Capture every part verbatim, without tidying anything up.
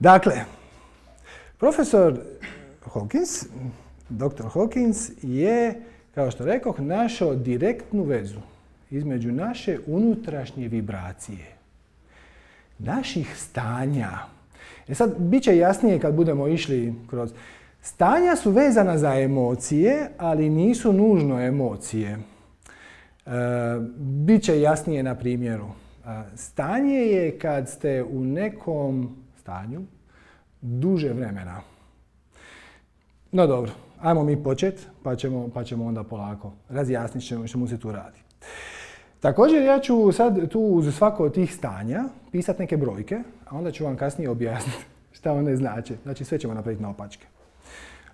Dakle, profesor Hawkins, doktor Hawkins je, kao što rekoh, našao direktnu vezu između naše unutrašnje vibracije, naših stanja. E sad, bit će jasnije kad budemo išli kroz... Stanja su vezana za emocije, ali nisu nužno emocije. E, bit će jasnije na primjeru. E, stanje je kad ste u nekom stanju duže vremena. No dobro, ajmo mi početi, pa ćemo, pa ćemo onda polako razjasniti što, što mu se tu radi. Također ja ću sad tu uz svako od tih stanja pisati neke brojke, a onda ću vam kasnije objasniti šta one znače. Znači sve ćemo napraviti naopačke.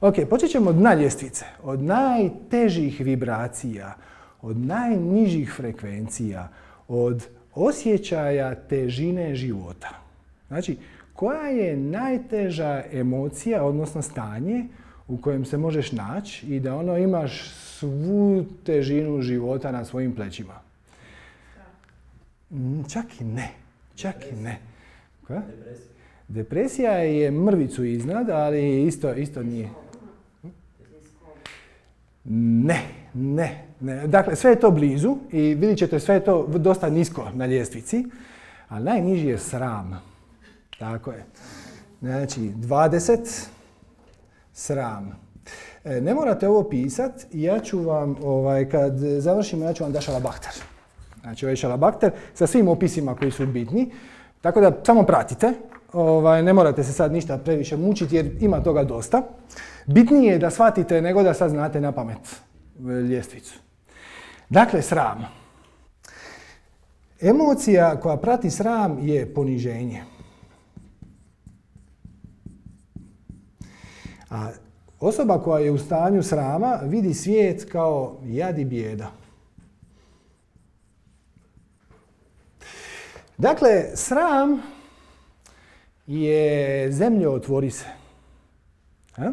Ok, počet ćemo od dna ljestvice, od najtežih vibracija, od najnižih frekvencija, od osjećaja težine života. Znači, koja je najteža emocija, odnosno stanje u kojem se možeš naći i da ono imaš svu težinu života na svojim plećima? Čak i ne. Čak i ne. Koja? Depresija. Depresija je mrvicu iznad, ali isto, isto nije. Ne, ne, ne. Dakle, sve je to blizu i vidjet ćete sve je to dosta nisko na ljestvici, ali najniži je sram. Tako je. Znači, dvadeset, sram. E, ne morate ovo pisati, ja ću vam, ovaj, kad završimo, ja ću vam dati šalabahter. Znači, ovaj šalabahter sa svim opisima koji su bitni, tako da samo pratite. Ovaj, ne morate se sad ništa previše mučiti jer ima toga dosta. Bitnije je da shvatite nego da sad znate na pamet ljestvicu. Dakle, sram. Emocija koja prati sram je poniženje. A osoba koja je u stanju srama vidi svijet kao jad i bijeda. Dakle, sram je zemljo otvori se. A?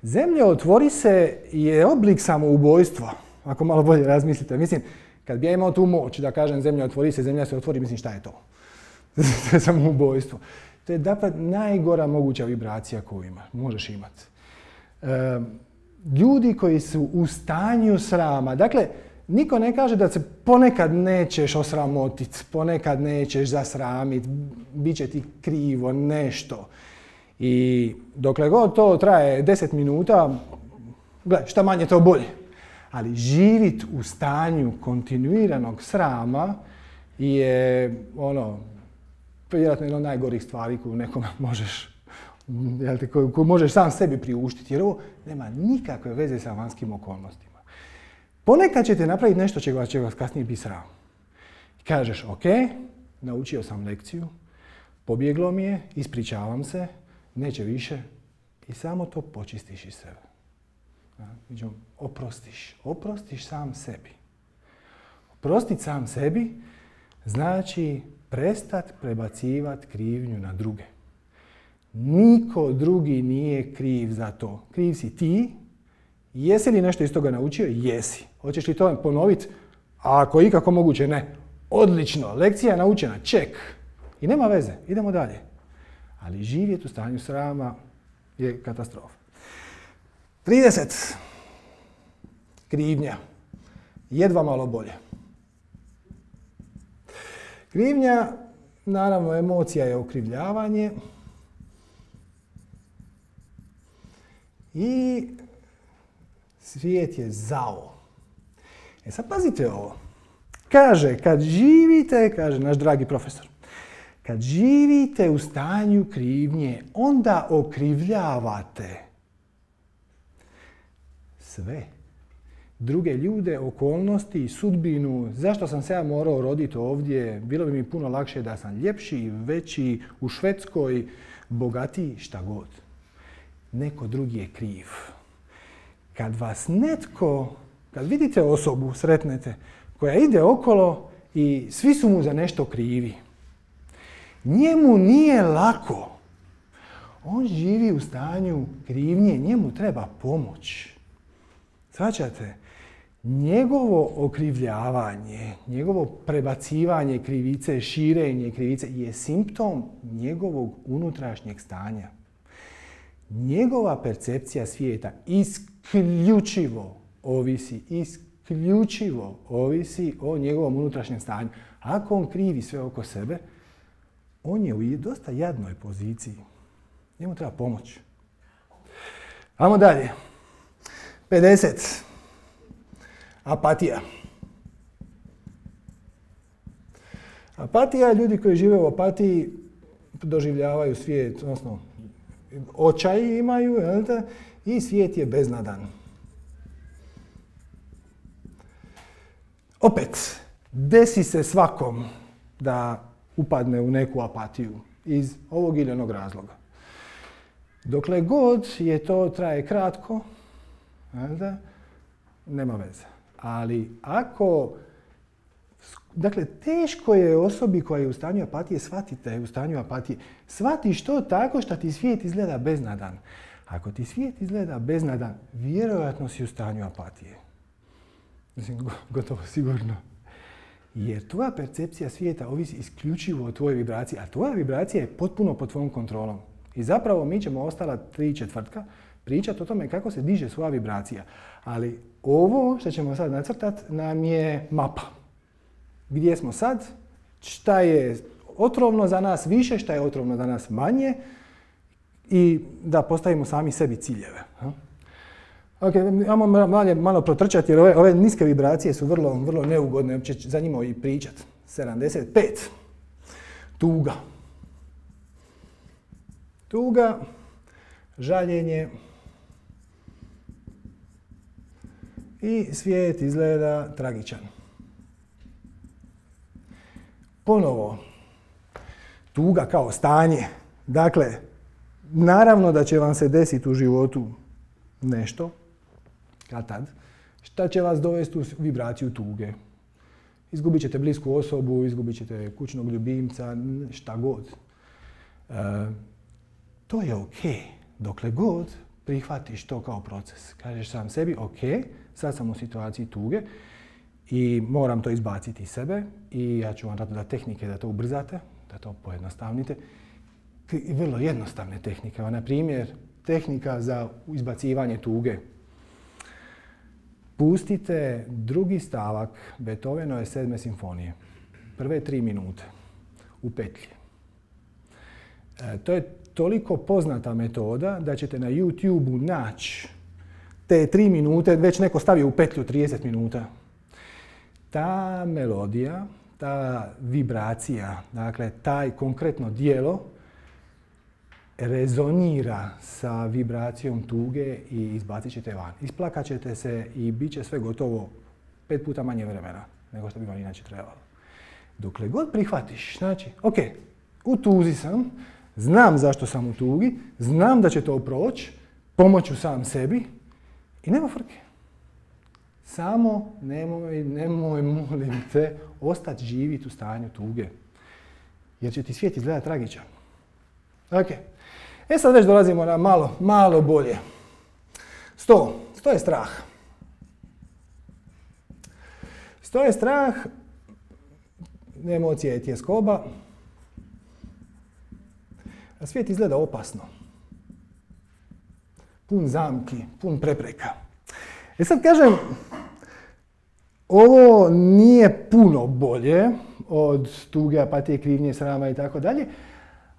Zemljo otvori se je oblik samoubojstva, ako malo bolje razmislite. Mislim, kad bi ja imao tu moć da kažem zemlja otvori se, zemlja se otvori, mislim šta je to? To je samoubojstvo. To je dakle najgora moguća vibracija koju ima, možeš imati. E, ljudi koji su u stanju srama, dakle, niko ne kaže da se ponekad nećeš osramotiti, ponekad nećeš zasramiti, bit će ti krivo nešto. I dokle god to traje deset minuta, gle, šta manje to bolje. Ali živit u stanju kontinuiranog srama je ono, vjerojatno jedna od najgorih stvari koju nekome možeš, jel te, koju, koju možeš sam sebi priuštiti, jer ovo nema nikakve veze sa vanjskim okolnostima. Ponekad ćete napraviti nešto čega će vas kasnije biti sram. Kažeš, ok, naučio sam lekciju, pobjeglo mi je, ispričavam se, neće više i samo to počistiš iz sebe. Znači, oprostiš, oprostiš sam sebi. Oprostiti sam sebi znači prestat prebacivati krivnju na druge. Niko drugi nije kriv za to. Kriv si ti. Jesi li nešto iz toga naučio? Jesi. Hoćeš li to ponoviti? A ako ikako moguće, ne. Odlično, lekcija je naučena, ček. I nema veze, idemo dalje. Ali živjeti u stanju srama je katastrofa. trideset. Krivnja. Jedva malo bolje. Krivnja, naravno, emocija je okrivljavanje. I svijet je zao. E sad pazite ovo. Kaže, kad živite, kaže naš dragi profesor, kad živite u stanju krivnje, onda okrivljavate sve. Druge ljude, okolnosti, sudbinu, zašto sam se ja morao roditi ovdje, bilo bi mi puno lakše da sam ljepši, veći, u Švedskoj, bogatiji, šta god. Neko drugi je kriv. Kad vas netko, kad vidite osobu, sretnete, koja ide okolo i svi su mu za nešto krivi, njemu nije lako. On živi u stanju krivnje, njemu treba pomoć. Shvaćate? Njegovo okrivljavanje, njegovo prebacivanje krivice, širenje krivice je simptom njegovog unutrašnjeg stanja. Njegova percepcija svijeta isključivo ovisi, isključivo ovisi o njegovom unutrašnjem stanju. Ako on krivi sve oko sebe, on je u dosta jadnoj poziciji. Njemu treba pomoć. Ajmo dalje. pedeset. Apatija. Apatija, ljudi koji žive u apatiji doživljavaju svijet, odnosno očaj imaju, jel te? I svijet je beznadan. Opet, desi se svakom da upadne u neku apatiju iz ovog ili onog razloga. Dokle god je to traje kratko, jel te? Nema veze. Ali ako, dakle, teško je osobi koja je u stanju apatije shvatiti da je u stanju apatije. Shvatiš to tako što ti svijet izgleda beznadan. Ako ti svijet izgleda beznadan, vjerojatno si u stanju apatije. Mislim, gotovo sigurno. Jer tvoja percepcija svijeta ovisi isključivo o tvojoj vibraciji, a tvoja vibracija je potpuno pod tvojom kontrolom. I zapravo mi ćemo ostala tri četvrtka pričati o tome kako se diže svoja vibracija. Ali ovo što ćemo sad nacrtati nam je mapa. Gdje smo sad, šta je otrovno za nas više, šta je otrovno za nas manje i da postavimo sami sebi ciljeve. Ok, ajmo malo, malo protrčati jer ove, ove niske vibracije su vrlo, vrlo neugodne, uopće za njima i pričati. sedamdeset pet. Tuga. Tuga, žaljenje i svijet izgleda tragičan. Ponovo, tuga kao stanje. Dakle, naravno da će vam se desiti u životu nešto, kad tad, šta će vas dovesti u vibraciju tuge. Izgubit ćete blisku osobu, izgubit ćete kućnog ljubimca, šta god. E, to je ok, dokle god prihvatiš to kao proces. Kažeš sam sebi, ok, sad sam u situaciji tuge i moram to izbaciti iz sebe i ja ću vam dati tehnike da to ubrzate, da to pojednostavnite. Vrlo jednostavne tehnike. Na primjer, tehnika za izbacivanje tuge. Pustite drugi stavak Beethovenove sedme simfonije. Prve tri minute u petlji. E, to je toliko poznata metoda da ćete na YouTube-u naći te tri minute, već neko stavio u petlju trideset minuta. Ta melodija, ta vibracija, dakle taj konkretno djelo rezonira sa vibracijom tuge i izbacit ćete van. Isplakat ćete se i bit će sve gotovo pet puta manje vremena nego što bi vam inače trebalo. Dokle god prihvatiš, znači, ok, u tuzi sam, znam zašto sam u tugi, znam da će to proći, pomoću sam sebi i nema frke. Samo nemoj, nemoj, molim te, ostati živjeti u stanju tuge. Jer će ti svijet izgledati tragičan. Ok. E sad već dolazimo na malo, malo bolje. Sto. Sto je strah. Sto je strah, emocija je tjeskoba, a svijet izgleda opasno. Pun zamki, pun prepreka. E sad kažem, ovo nije puno bolje od tuge, apatije, krivnje, srama i tako dalje,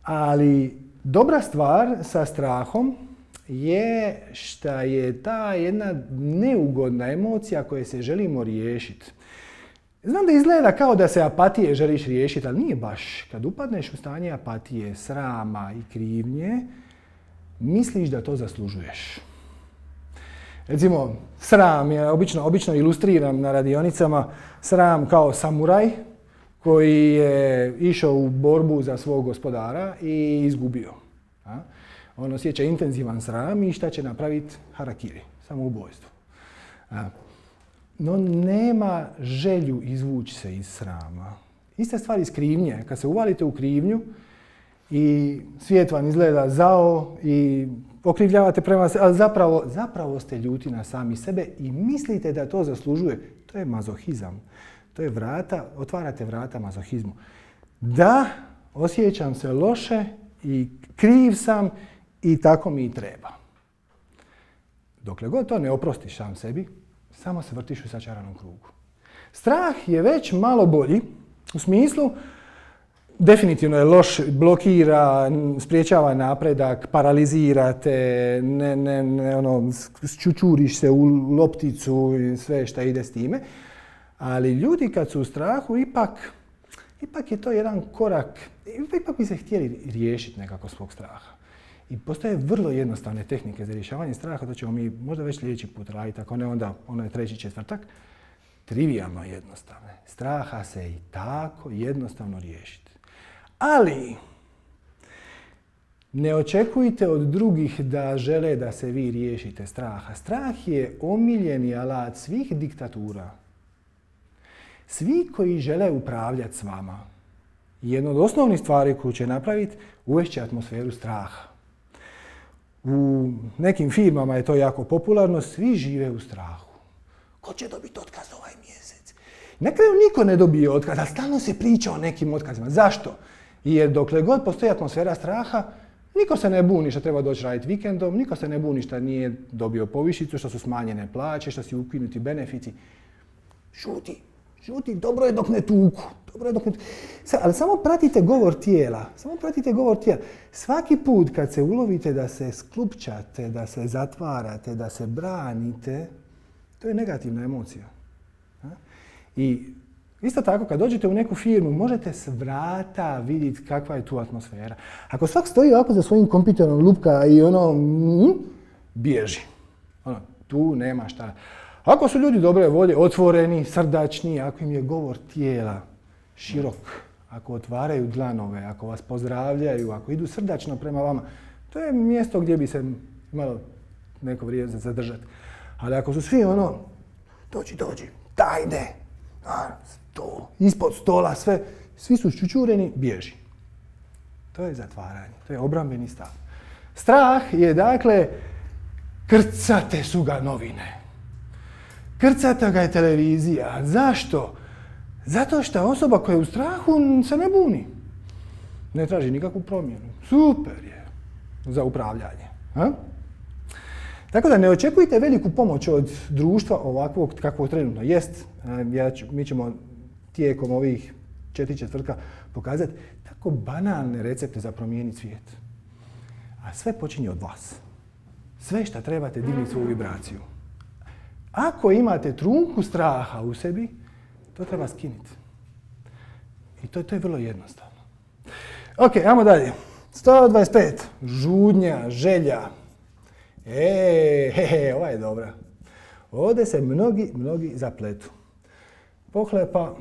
ali dobra stvar sa strahom je što je ta jedna neugodna emocija koje se želimo riješiti. Znam da izgleda kao da se apatije želiš riješiti, ali nije baš. Kad upadneš u stanje apatije, srama i krivnje, misliš da to zaslužuješ. Recimo, sram je obično, obično ilustriram na radionicama, sram kao samuraj koji je išao u borbu za svog gospodara i izgubio. A? On osjeća intenzivan sram i šta će napraviti? Harakiri, samoubojstvo. A? No nema želju izvući se iz srama. Ista stvar iz krivnje. Kad se uvalite u krivnju i svijet vam izgleda zao i okrivljavate prema se, ali zapravo, zapravo ste ljuti na sami sebe i mislite da to zaslužuje. To je mazohizam. To je vrata, otvarate vrata mazohizmu. Da, osjećam se loše i kriv sam i tako mi i treba. Dokle god to ne oprostiš sam sebi, samo se vrtiš u začaranom krugu. Strah je već malo bolji u smislu definitivno je loš, blokira, spriječava napredak, paralizira te, ne, ne, ne, ono, čučuriš se u lopticu i sve šta ide s time. Ali ljudi kad su u strahu, ipak, ipak je to jedan korak, ipak bi se htjeli riješiti nekako svog straha. I postoje vrlo jednostavne tehnike za rješavanje straha, to ćemo mi možda već sljedeći put raditi, ako ne onda ono je treći četvrtak. Trivijalno jednostavne. Straha se i tako jednostavno riješiti. Ali ne očekujte od drugih da žele da se vi riješite straha. Strah je omiljeni alat svih diktatura. Svi koji žele upravljati s vama, jedna od osnovnih stvari koju će napraviti, uvešće atmosferu straha. U nekim firmama je to jako popularno, svi žive u strahu. Ko će dobiti otkaz ovaj mjesec? Na kraju niko ne dobije otkaz, ali stalno se priča o nekim otkazima. Zašto? Jer dokle god postoji atmosfera straha, niko se ne buni što treba doći raditi vikendom, niko se ne buni što nije dobio povišicu, što su smanjene plaće, što su ukinuti benefiti. Šuti, šuti, dobro je dok ne tuku. Dobro je dok ne tuku. Ali samo pratite govor tijela. Samo pratite govor tijela. Svaki put kad se ulovite da se sklupčate, da se zatvarate, da se branite, to je negativna emocija. I isto tako, kad dođete u neku firmu, možete s vrata vidjeti kakva je tu atmosfera. Ako svak stoji ovako za svojim kompjuterom, lupka i ono, mm, bježi. Ono, tu nema šta. Ako su ljudi dobre volje, otvoreni, srdačni, ako im je govor tijela širok, ako otvaraju dlanove, ako vas pozdravljaju, ako idu srdačno prema vama, to je mjesto gdje bi se malo neko vrijeme zadržati. Ali ako su svi ono, dođi, dođi, dajde, to, ispod stola, sve, svi su ščučureni, bježi. To je zatvaranje, to je obrambeni stav. Strah je, dakle, krcate su ga novine. Krcata ga je televizija. Zašto? Zato što osoba koja je u strahu se ne buni. Ne traži nikakvu promjenu. Super je za upravljanje. A? Tako da ne očekujte veliku pomoć od društva ovakvog kakvog trenutno jest. Ja ću, mi ćemo tijekom ovih četiri četvrtka pokazati tako banalne recepte za promijeniti svijet. A sve počinje od vas. Sve što trebate dignuti svoju vibraciju. Ako imate trunku straha u sebi, to treba skinuti. I to, to je vrlo jednostavno. Ok, ajmo dalje. sto dvadeset pet. Žudnja, želja. E, he, he, ova je dobra. Ovdje se mnogi, mnogi zapletu. Pohlepa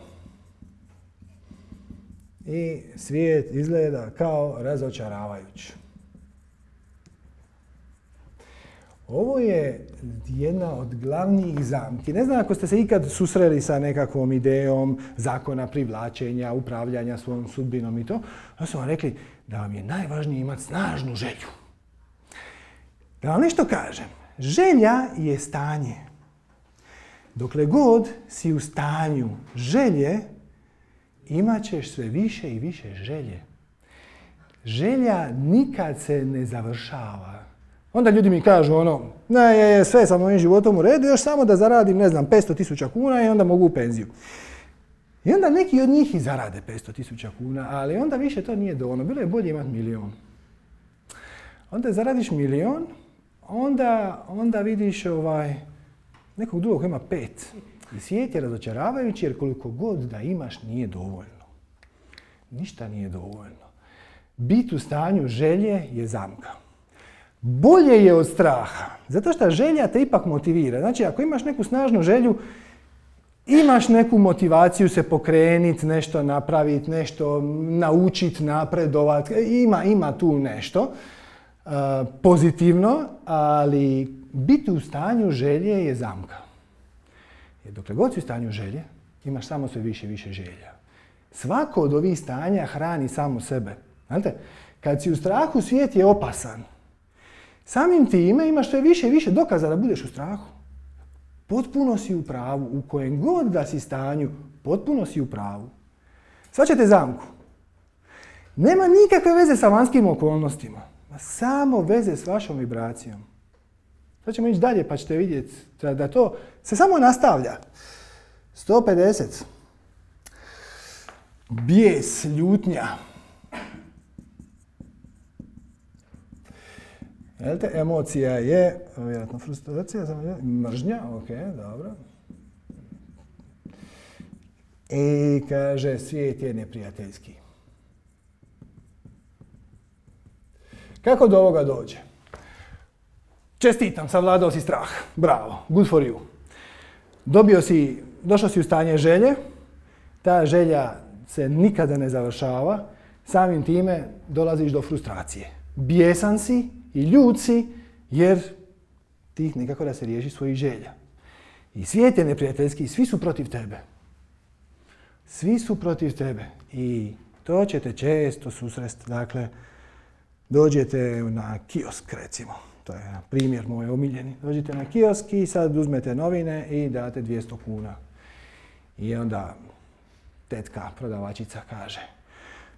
i svijet izgleda kao razočaravajuć. Ovo je jedna od glavnih zamki. Ne znam ako ste se ikad susreli sa nekakvom idejom zakona privlačenja, upravljanja svojom sudbinom i to. Onda su vam rekli da vam je najvažnije imati snažnu želju. Da vam nešto kažem. Želja je stanje. Dokle god si u stanju želje, imat ćeš sve više i više želje. Želja nikad se ne završava. Onda ljudi mi kažu ono, ne, je, sve sa mojim životom u redu, još samo da zaradim, ne znam, petsto tisuća kuna i onda mogu u penziju. I onda neki od njih i zarade petsto tisuća kuna, ali onda više to nije dovoljno. Bilo je bolje imati milion. Onda zaradiš milion, onda, onda vidiš ovaj, nekog drugog koji ima pet. I svijet je razočaravajući jer koliko god da imaš nije dovoljno. Ništa nije dovoljno. Bit u stanju želje je zamka. Bolje je od straha, zato što želja te ipak motivira. Znači, ako imaš neku snažnu želju, imaš neku motivaciju se pokrenuti, nešto napraviti, nešto naučiti, napredovati. Ima, ima tu nešto uh, pozitivno, ali biti u stanju želje je zamka. Jer dokle god si u stanju želje, imaš samo sve više i više želja. Svako od ovih stanja hrani samo sebe. Znate, kad si u strahu, svijet je opasan. Samim time imaš sve više i više dokaza da budeš u strahu. Potpuno si u pravu. U kojem god da si stanju, potpuno si u pravu. Shvaćate zamku? Nema nikakve veze sa vanjskim okolnostima. Samo veze s vašom vibracijom. Sad ćemo ići dalje pa ćete vidjeti da to se samo nastavlja. sto pedeset. Bijes, ljutnja. Jelite, emocija je, vjerojatno frustracija, mržnja, ok, dobro. I kaže, svijet je neprijateljski. Kako do ovoga dođe? Čestitam, savladao si strah. Bravo, good for you. Dobio si, došao si u stanje želje, ta želja se nikada ne završava, samim time dolaziš do frustracije. Bijesan si i ljut si jer ti nikako da se riješi svojih želja. I svijet je neprijateljski, svi su protiv tebe. Svi su protiv tebe i to ćete često susresti. Dakle, dođete na kiosk, recimo. To je primjer moj omiljeni. Dođete na kiosk i sad uzmete novine i date dvjesto kuna. I onda tetka, prodavačica kaže,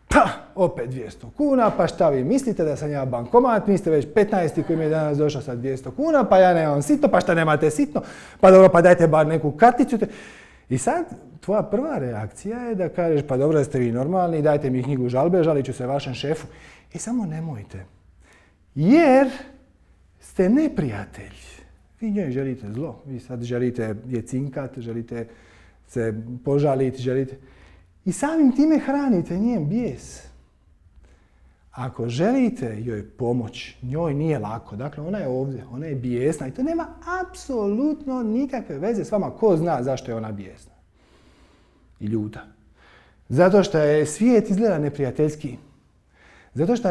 pa, opet dvjesto kuna, pa šta vi mislite da sam ja bankomat, niste već petnaesti koji mi je danas došao sa dvjesto kuna, pa ja nemam sitno, pa šta nemate sitno, pa dobro, pa dajte bar neku karticu. I sad, tvoja prva reakcija je da kažeš, pa dobro, da ste vi normalni, dajte mi knjigu žalbe, žalit ću se vašem šefu. I samo nemojte. Jer ste neprijatelj. Vi njoj želite zlo. Vi sad želite je cinkat, želite se požaliti, želite... I samim time hranite njen bijes. Ako želite joj pomoć, njoj nije lako. Dakle, ona je ovdje, ona je bijesna i to nema apsolutno nikakve veze s vama. Ko zna zašto je ona bijesna i ljuta? Zato što je svijet izgleda neprijateljski. Zato što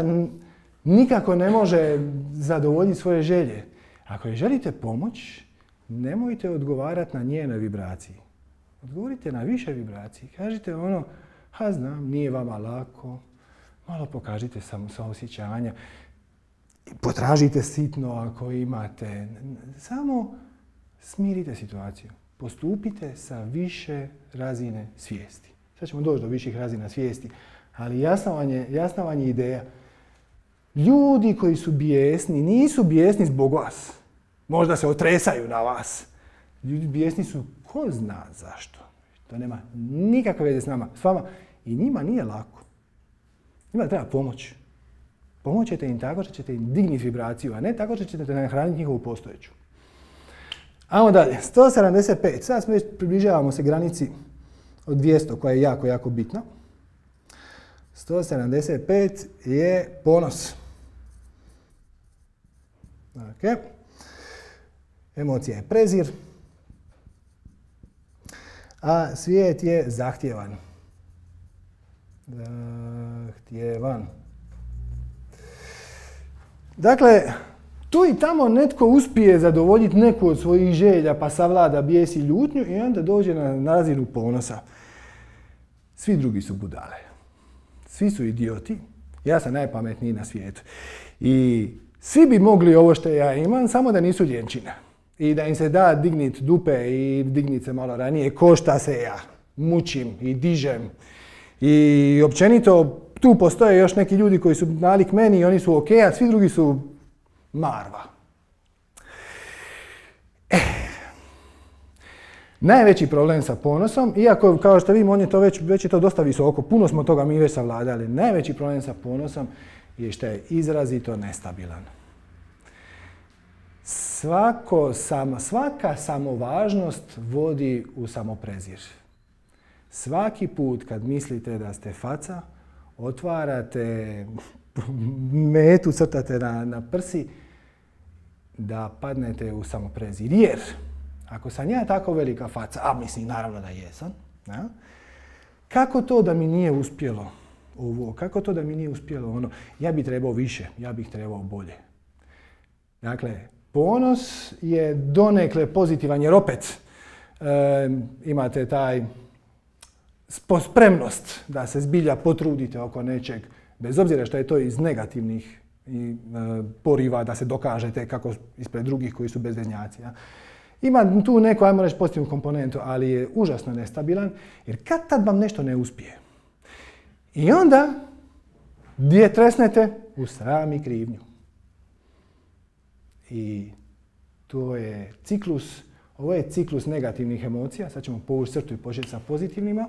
nikako ne može zadovoljiti svoje želje. Ako joj želite pomoć, nemojte odgovarati na njenoj vibraciji. Odgovorite na više vibraciji. Kažite ono, ha znam, nije vama lako. Malo pokažite samoosjećanja. Potražite sitno ako imate. Samo smirite situaciju. Postupite sa više razine svijesti. Sad ćemo doći do viših razina svijesti. Ali jasna vam je, jasna vam je ideja. Ljudi koji su bijesni nisu bijesni zbog vas. Možda se otresaju na vas. Ljudi bijesni su ko zna zašto. To nema nikakve veze s nama, s vama. I njima nije lako. Njima treba pomoć. Pomoć ćete im tako što ćete im digniti vibraciju, a ne tako što ćete nahraniti njihovu postojeću. Ajmo dalje. sto sedamdeset pet. Sad smo već približavamo se granici od dvjesto koja je jako, jako bitna. sto sedamdeset pet je ponos. Okay. Emocija je prezir. A svijet je zahtjevan. Zahtjevan. Dakle, tu i tamo netko uspije zadovoljiti neku od svojih želja, pa savlada bijes i ljutnju i onda dođe na, na razinu ponosa. Svi drugi su budale. Svi su idioti. Ja sam najpametniji na svijetu. I svi bi mogli ovo što ja imam, samo da nisu ljenčine. I da im se da dignit dupe i dignit se malo ranije, ko šta se ja mučim i dižem. I općenito tu postoje još neki ljudi koji su nalik meni i oni su ok, a svi drugi su marva. Eh. Najveći problem sa ponosom, iako kao što vidimo on je to već, već je to dosta visoko, puno smo toga mi već savladali, najveći problem sa ponosom je što je izrazito nestabilan. Svako, sam, svaka samovažnost vodi u samoprezir. Svaki put kad mislite da ste faca, otvarate metu, crtate na, na prsi, da padnete u samoprezir. Jer, ako sam ja tako velika faca, a mislim naravno da jesam, ja, kako to da mi nije uspjelo ovo, kako to da mi nije uspjelo ono, ja bih trebao više, ja bih trebao bolje. Dakle, ponos je donekle pozitivan jer opet e, imate taj spremnost da se zbilja potrudite oko nečeg, bez obzira što je to iz negativnih i e, poriva da se dokažete kako ispred drugih koji su bezveznjaci. Ja. Ima tu neku, ajmo reći, pozitivnu komponentu, ali je užasno nestabilan, jer kad tad vam nešto ne uspije. I onda, gdje tresnete? U sram i krivnju. I to je ciklus, ovo je ciklus negativnih emocija, sad ćemo povući crtu i početi sa pozitivnima.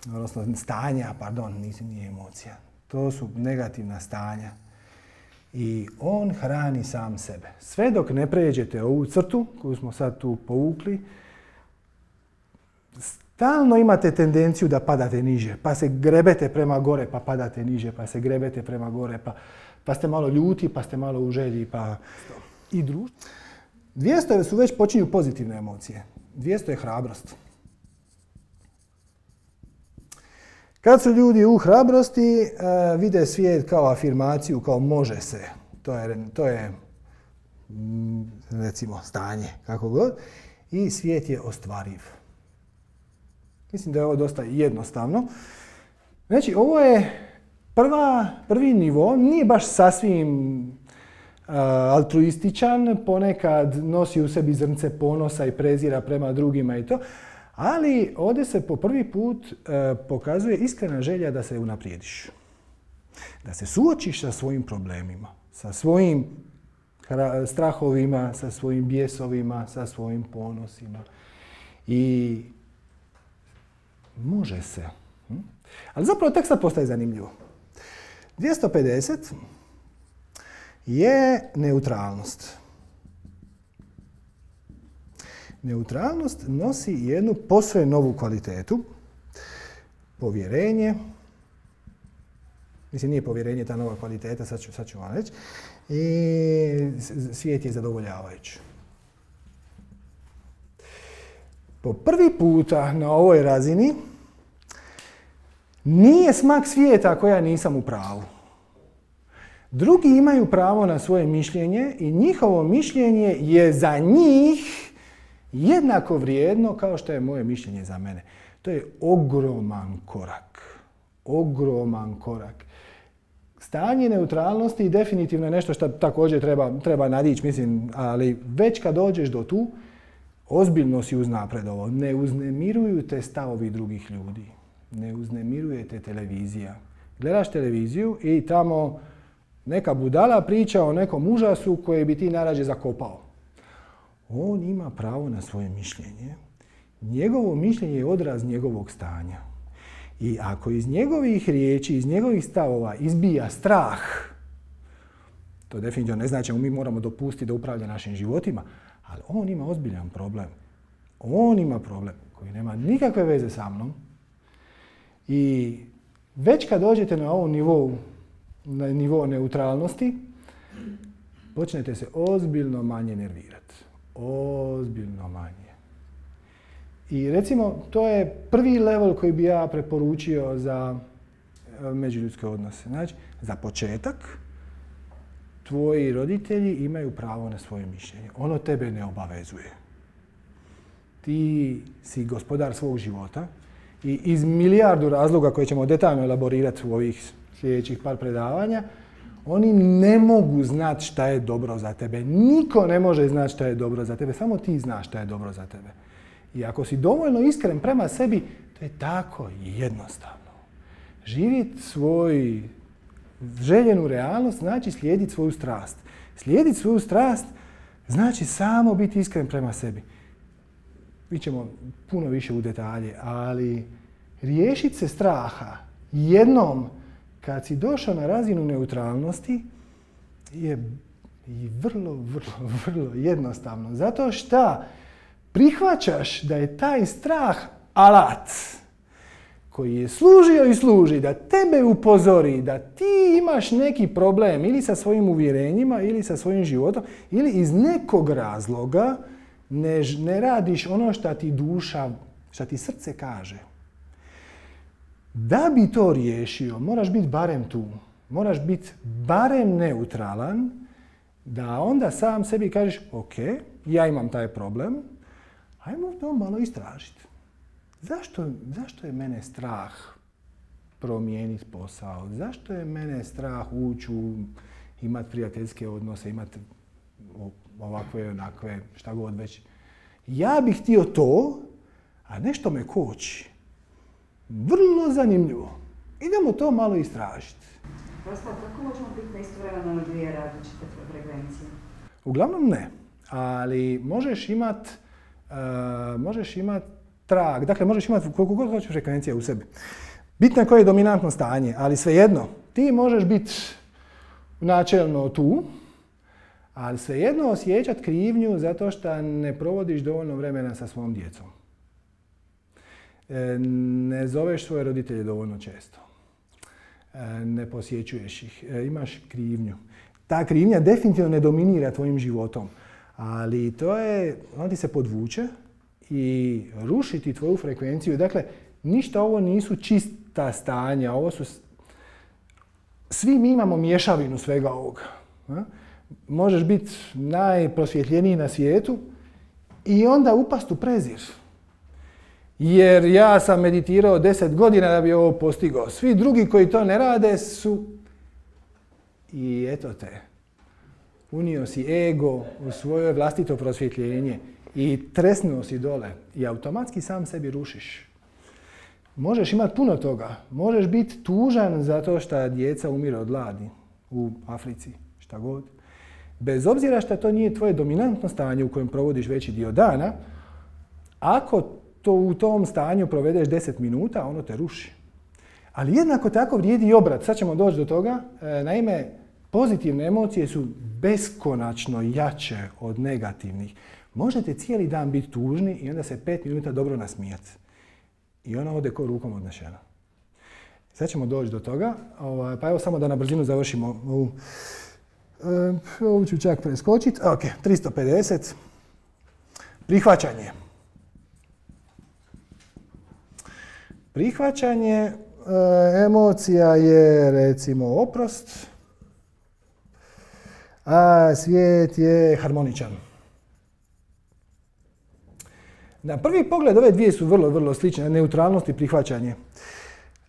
Odnosno stanja, pardon, nisu nije emocija. To su negativna stanja. I on hrani sam sebe. Sve dok ne pređete ovu crtu koju smo sad tu povukli, stalno imate tendenciju da padate niže, pa se grebete prema gore, pa padate niže, pa se grebete prema gore, pa, pa ste malo ljuti, pa ste malo u želji, pa i društvo. dvjesto su već počinju pozitivne emocije. dvjesto je hrabrost. Kad su ljudi u hrabrosti, uh, vide svijet kao afirmaciju, kao može se. To je, to je mm, recimo, stanje, kako god. I svijet je ostvariv. Mislim da je ovo dosta jednostavno. Znači, ovo je prva, prvi nivo, nije baš sasvim uh, altruističan, ponekad nosi u sebi zrnce ponosa i prezira prema drugima i to. Ali ovdje se po prvi put e, pokazuje iskrena želja da se unaprijediš. Da se suočiš sa svojim problemima, sa svojim strahovima, sa svojim bijesovima, sa svojim ponosima. I može se. Hm? Ali zapravo tek sad postaje zanimljivo. dvjesto pedeset je neutralnost. Neutralnost nosi jednu posve novu kvalitetu. Povjerenje. Mislim, nije povjerenje ta nova kvaliteta, sad ću, sad ću vam reći. I svijet je zadovoljavajući. Po prvi puta na ovoj razini nije smak svijeta ako ja nisam u pravu. Drugi imaju pravo na svoje mišljenje i njihovo mišljenje je za njih jednako vrijedno kao što je moje mišljenje za mene. To je ogroman korak. Ogroman korak. Stanje neutralnosti definitivno je nešto što također treba, treba nadići, mislim, ali već kad dođeš do tu, ozbiljno si uznapredovo. Ne uznemiruju te stavovi drugih ljudi. Ne uznemiruje te televizija. Gledaš televiziju i tamo neka budala priča o nekom užasu koji bi ti najrađe zakopao. On ima pravo na svoje mišljenje. Njegovo mišljenje je odraz njegovog stanja. I ako iz njegovih riječi, iz njegovih stavova izbija strah, to definitivno ne znači da mi moramo dopustiti da upravlja našim životima, ali on ima ozbiljan problem. On ima problem koji nema nikakve veze sa mnom. I već kad dođete na ovom nivou, na nivo neutralnosti, počnete se ozbiljno manje nervirati. Ozbiljno manje. I recimo, to je prvi level koji bi ja preporučio za međuljudske odnose. Znači, za početak, tvoji roditelji imaju pravo na svoje mišljenje. Ono tebe ne obavezuje. Ti si gospodar svog života i iz milijardu razloga koje ćemo detaljno elaborirati u ovih sljedećih par predavanja, oni ne mogu znati šta je dobro za tebe. Niko ne može znati šta je dobro za tebe. Samo ti znaš šta je dobro za tebe. I ako si dovoljno iskren prema sebi, to je tako jednostavno. Živjeti svoj željenu realnost znači slijediti svoju strast. Slijediti svoju strast znači samo biti iskren prema sebi. Mi ćemo puno više u detalje, ali riješiti se straha jednom kad si došao na razinu neutralnosti je i vrlo, vrlo, vrlo jednostavno. Zato što prihvaćaš da je taj strah alat koji je služio i služi da tebe upozori da ti imaš neki problem ili sa svojim uvjerenjima ili sa svojim životom ili iz nekog razloga ne, ne radiš ono što ti duša, što ti srce kaže. Da bi to riješio, moraš biti barem tu. Moraš biti barem neutralan, da onda sam sebi kažeš, ok, ja imam taj problem, ajmo to malo istražiti. Zašto, zašto je mene strah promijeniti posao? Zašto je mene strah ući u imati prijateljske odnose, imati ovakve, onakve, šta god već. Ja bih htio to, a nešto me koči. Vrlo zanimljivo. Idemo to malo istražiti. Prosto, kako možemo biti istovremeno na dvije različite frekvencije? Uglavnom ne, ali možeš imat, uh, možeš imat trag, dakle možeš imati koliko god hoćeš frekvencija u sebi. Bitno je koje je dominantno stanje, ali svejedno, ti možeš biti načelno tu, ali svejedno osjećati krivnju zato što ne provodiš dovoljno vremena sa svom djecom. Ne zoveš svoje roditelje dovoljno često. Ne posjećuješ ih. Imaš krivnju. Ta krivnja definitivno ne dominira tvojim životom, ali to je, ona ti se podvuče i rušiti tvoju frekvenciju. Dakle, ništa ovo nisu čista stanja, ovo su... Svi mi imamo mješavinu svega ovoga. Možeš biti najprosvjetljeniji na svijetu i onda upast u prezir. Jer ja sam meditirao deset godina da bi ovo postigao. Svi drugi koji to ne rade su... I eto te. Unio si ego u svoje vlastito prosvjetljenje i tresnuo si dole i automatski sam sebi rušiš. Možeš imati puno toga. Možeš biti tužan zato što djeca umire od gladi u Africi, šta god. Bez obzira što to nije tvoje dominantno stanje u kojem provodiš veći dio dana, ako to u tom stanju provedeš deset minuta, ono te ruši. Ali jednako tako vrijedi i obrat. Sad ćemo doći do toga. Naime, pozitivne emocije su beskonačno jače od negativnih. Možete cijeli dan biti tužni i onda se pet minuta dobro nasmijati. I ona ode ko rukom odnešena. Sad ćemo doći do toga. Pa evo samo da na brzinu završimo ovu. Ovo ću čak preskočiti. Ok, tristo pedeset. Prihvaćanje. Prihvaćanje e, emocija je recimo oprost, a svijet je harmoničan. Na prvi pogled ove dvije su vrlo, vrlo slične, neutralnost i prihvaćanje.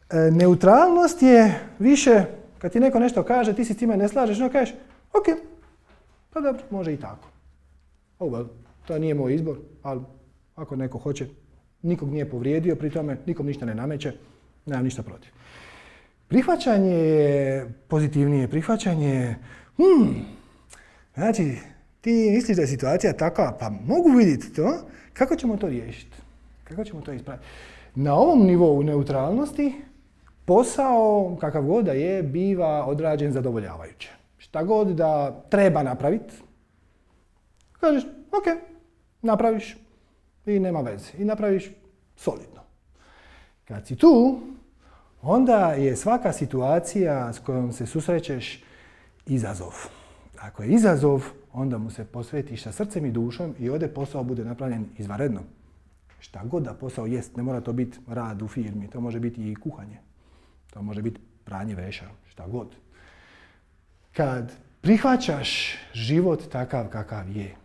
E, neutralnost je više, kad ti neko nešto kaže, ti si s time ne slažeš, no kažeš, ok, pa dobro, može i tako. Oh well, to nije moj izbor, ali ako neko hoće, nikog nije povrijedio, pri tome nikom ništa ne nameće, nemam ništa protiv. Prihvaćanje je pozitivnije, prihvaćanje je, hmm, znači, ti misliš da je situacija takva, pa mogu vidjeti to, kako ćemo to riješiti? Kako ćemo to ispraviti? Na ovom nivou neutralnosti, posao, kakav god da je, biva odrađen zadovoljavajuće. Šta god da treba napraviti, kažeš, ok, napraviš i nema veze. I napraviš solidno. Kad si tu, onda je svaka situacija s kojom se susrećeš izazov. Ako je izazov, onda mu se posvetiš sa srcem i dušom i ovdje posao bude napravljen izvanredno. Šta god da posao jest, ne mora to biti rad u firmi, to može biti i kuhanje. To može biti pranje veša, šta god. Kad prihvaćaš život takav kakav je,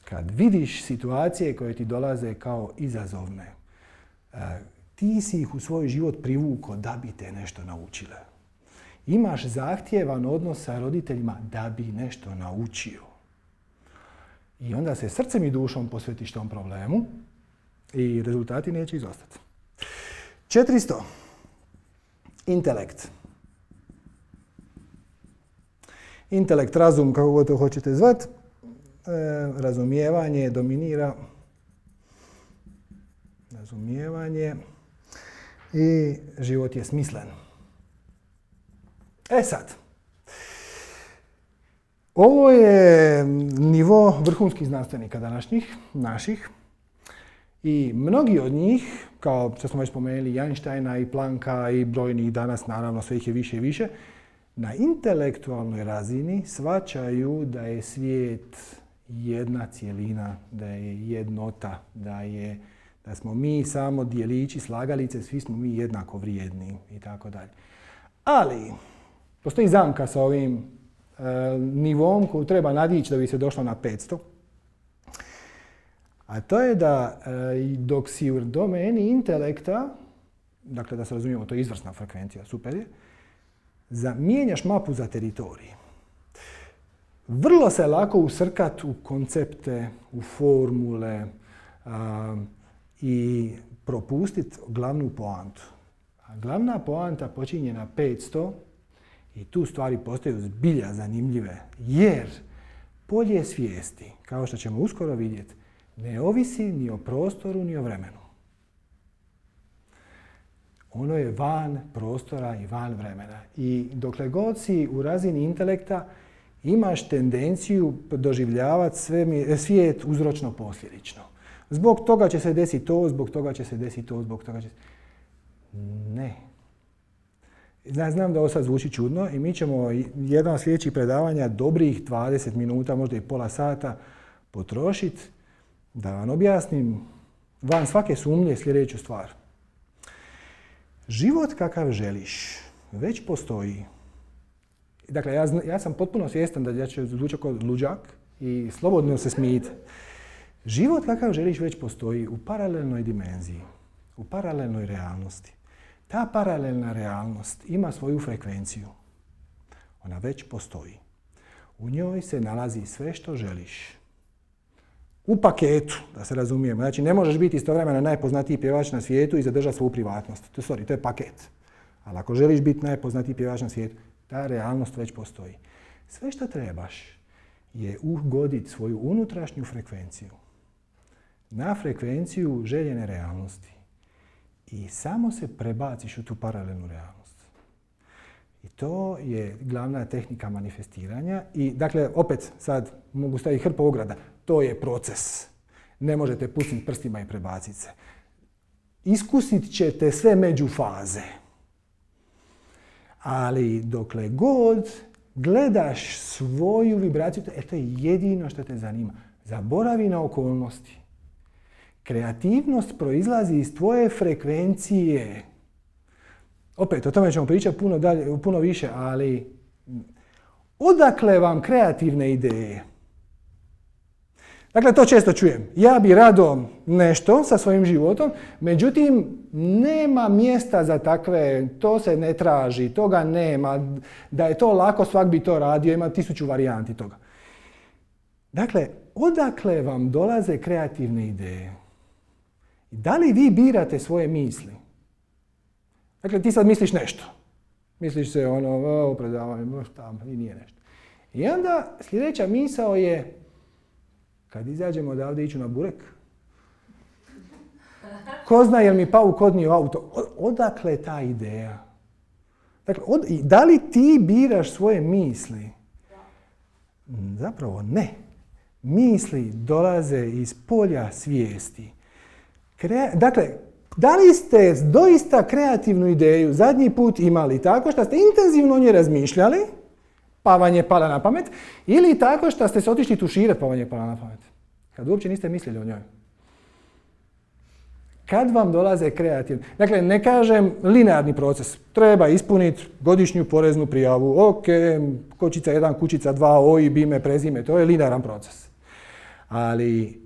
kad vidiš situacije koje ti dolaze kao izazovne, ti si ih u svoj život privukao da bi te nešto naučile. Imaš zahtjevan odnos sa roditeljima da bi nešto naučio. I onda se srcem i dušom posvetiš tom problemu i rezultati neće izostati. četiristo. Intelekt. Intelekt, razum, kako god to hoćete zvati, e, razumijevanje dominira. Razumijevanje i život je smislen. E sad, ovo je nivo vrhunskih znanstvenika današnjih, naših, i mnogi od njih, kao što smo već spomenuli, Einsteina i Plancka i brojnih danas, naravno sve ih je više i više, na intelektualnoj razini shvaćaju da je svijet jedna cjelina, da je jednota, da, je, da smo mi samo dijelići, slagalice, svi smo mi jednako vrijedni i tako dalje. Ali, postoji zamka sa ovim e, nivom koju treba nadići da bi se došlo na petsto. A to je da e, dok si u domeni intelekta, dakle da se razumijemo, to je izvrsna frekvencija, super je, za, mijenjaš mapu za teritorij. Vrlo se lako usrkat u koncepte, u formule a, i propustiti glavnu poantu. A glavna poanta počinje na petsto i tu stvari postaju zbilja zanimljive, jer polje svijesti, kao što ćemo uskoro vidjeti, ne ovisi ni o prostoru ni o vremenu. Ono je van prostora i van vremena. I dokle god si u razini intelekta, imaš tendenciju doživljavati sve, svijet uzročno-posljedično. Zbog toga će se desiti to, zbog toga će se desiti to, zbog toga će se... Ne. Znam da ovo sad zvuči čudno i mi ćemo jedan od sljedećih predavanja dobrih dvadeset minuta, možda i pola sata potrošiti da vam objasnim van svake sumnje sljedeću stvar. Život kakav želiš već postoji. Dakle, ja, ja sam potpuno svjestan da ja ću zvučati kao luđak i slobodno se smijete. Život kakav želiš već postoji u paralelnoj dimenziji, u paralelnoj realnosti. Ta paralelna realnost ima svoju frekvenciju. Ona već postoji. U njoj se nalazi sve što želiš. U paketu, da se razumijemo. Znači, ne možeš biti istovremeno najpoznatiji pjevač na svijetu i zadržati svoju privatnost. To, sorry, to je paket. Ali ako želiš biti najpoznatiji pjevač na svijetu, ta realnost već postoji. Sve što trebaš je ugoditi svoju unutrašnju frekvenciju na frekvenciju željene realnosti. I samo se prebaciš u tu paralelnu realnost. I to je glavna tehnika manifestiranja. I dakle, opet sad mogu staviti hrpu ograda. To je proces. Ne možete pucniti prstima i prebaciti se. Iskusit ćete sve međufaze. Ali dokle god gledaš svoju vibraciju, e, to je jedino što te zanima. Zaboravi na okolnosti. Kreativnost proizlazi iz tvoje frekvencije. Opet, o tome ćemo pričati puno, dalje, puno više, ali odakle vam kreativne ideje? Dakle, to često čujem. Ja bi rado nešto sa svojim životom, međutim, nema mjesta za takve, to se ne traži, toga nema. Da je to lako, svak bi to radio, ima tisuću varijanti toga. Dakle, odakle vam dolaze kreativne ideje? Da li vi birate svoje misli? Dakle, ti sad misliš nešto. Misliš se ono, o, predavanje, tamo, i nije nešto. I onda sljedeća misao je, kad izađemo odavde iću na burek, ko zna jel mi pauk odnio auto? Odakle ta ideja? Dakle, od, da li ti biraš svoje misli? Zapravo ne. Misli dolaze iz polja svijesti. Krea, dakle, da li ste doista kreativnu ideju zadnji put imali tako što ste intenzivno o njoj razmišljali, pa vam je pala na pamet, ili tako što ste se otišli tuširati pa vam je pala na pamet? Kad uopće niste mislili o njoj. Kad vam dolaze kreativni... Dakle, ne kažem linearni proces. Treba ispuniti godišnju poreznu prijavu. Ok, kočica jedan, kućica dva, O I B, ime, prezime. To je linearan proces. Ali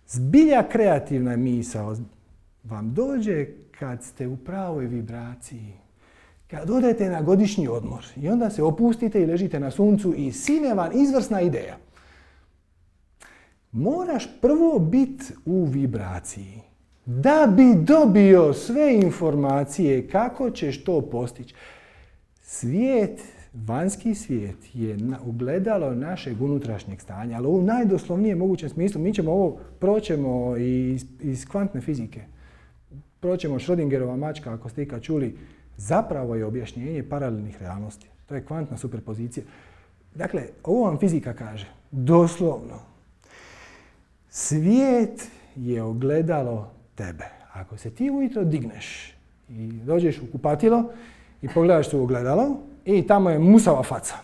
zbilja kreativna misao vam dođe kad ste u pravoj vibraciji. Kad odete na godišnji odmor i onda se opustite i ležite na suncu i sine vam izvrsna ideja. Moraš prvo biti u vibraciji da bi dobio sve informacije kako ćeš to postići. Svijet, vanjski svijet je ogledalo našeg unutrašnjeg stanja, ali u najdoslovnijem mogućem smislu. Mi ćemo ovo proćemo iz, iz kvantne fizike. Proćemo Schrödingerova mačka, ako ste ikad čuli, zapravo je objašnjenje paralelnih realnosti. To je kvantna superpozicija. Dakle, ovo vam fizika kaže, doslovno. Svijet je ogledalo tebe. Ako se ti ujutro digneš i dođeš u kupatilo i pogledaš se u ogledalo i tamo je musava faca.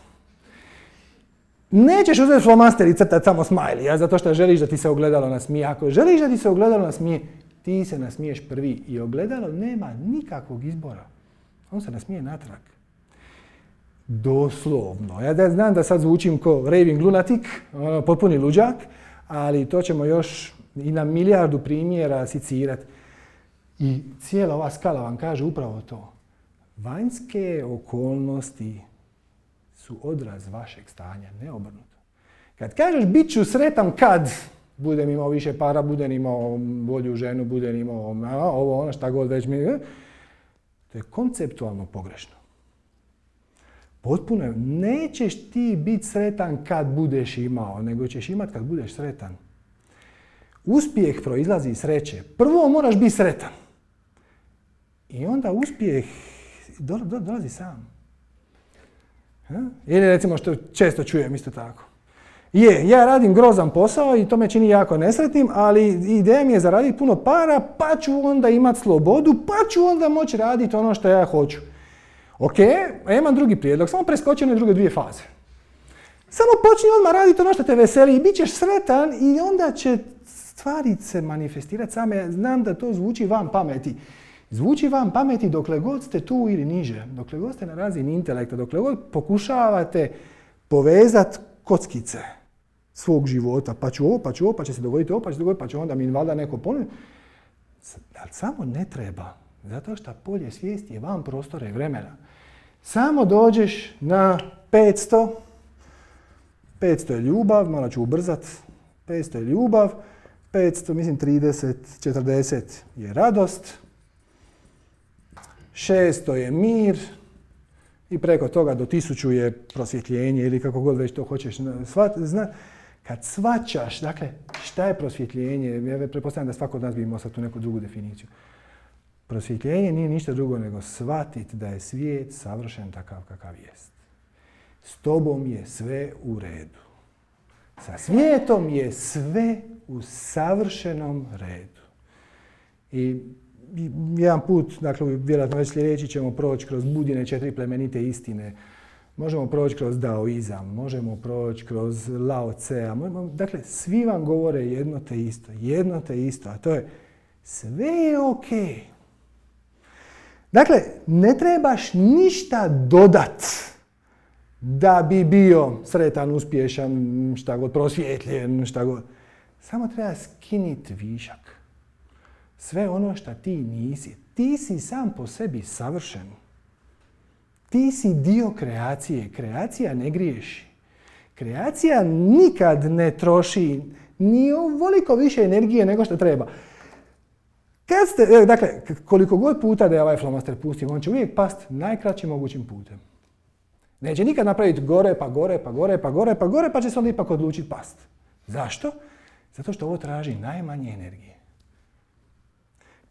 Nećeš uzeti flomaster i crtati samo smiley, zato što želiš da ti se ogledalo nasmije. Ako želiš da ti se ogledalo nasmije, ti se nasmiješ prvi i ogledalo nema nikakvog izbora. On se nasmije natrag. Doslovno. Ja da znam da sad zvučim ko raving lunatik, potpuni luđak, ali to ćemo još i na milijardu primjera sicirati. I cijela ova skala vam kaže upravo to. Vanjske okolnosti su odraz vašeg stanja, ne obrnuto. Kad kažeš bit ću sretan kad budem imao više para, budem imao bolju ženu, budem imao ovo, ono, šta god već mi... To je konceptualno pogrešno. Potpuno je. Nećeš ti biti sretan kad budeš imao, nego ćeš imat kad budeš sretan. Uspjeh proizlazi iz sreće. Prvo moraš biti sretan. I onda uspjeh do, do, dolazi sam. Ha? Ili recimo što često čujem isto tako. Je, ja radim grozan posao i to me čini jako nesretnim, ali ideja mi je zaraditi puno para, pa ću onda imati slobodu, pa ću onda moći raditi ono što ja hoću. Ok, a imam drugi prijedlog, samo preskoči one druge dvije faze. Samo počni odmah raditi ono što te veseli i bit ćeš sretan i onda će stvari se manifestirati same. Znam da to zvuči van pameti. Zvuči vam pameti dokle god ste tu ili niže, dokle god ste na razini intelekta, dokle god pokušavate povezati kockice svog života, pa ću ovo, pa ću ovo, pa će se dogoditi ovo, pa će se dogoditi, pa će onda mi valjda neko ponuditi. Ali samo ne treba, zato što polje svijesti je van prostora i vremena. Samo dođeš na petsto, petsto je ljubav, malo ću ubrzat, petsto je ljubav, petsto, mislim trideset, četrdeset je radost, šesto je mir i preko toga do tisuću je prosvjetljenje ili kako god već to hoćeš. Zna, kad shvaćaš, dakle, šta je prosvjetljenje, ja pretpostavljam da svako od nas bi imao sad tu neku drugu definiciju. Prosvjetljenje nije ništa drugo nego shvatiti da je svijet savršen takav kakav jest. S tobom je sve u redu. Sa svijetom je sve u savršenom redu. I jedan put, dakle, vjerojatno već sljedeći ćemo proći kroz Budine četiri plemenite istine. Možemo proći kroz daoizam, možemo proći kroz Lao Tsea. Dakle, svi vam govore jedno te isto, jedno te isto, a to je sve je okej. Dakle, ne trebaš ništa dodat da bi bio sretan, uspješan, šta god, prosvjetljen, šta god. Samo treba skiniti višak. Sve ono što ti nisi. Ti si sam po sebi savršen. Ti si dio kreacije. Kreacija ne griješi. Kreacija nikad ne troši ni ovoliko više energije nego što treba. Kad ste, dakle, koliko god puta da je ovaj flomaster pustim, on će uvijek past najkraćim mogućim putem. Neće nikad napraviti gore, pa gore, pa gore, pa gore, pa gore, pa će se onda ipak odlučiti past. Zašto? Zato što ovo traži najmanje energije.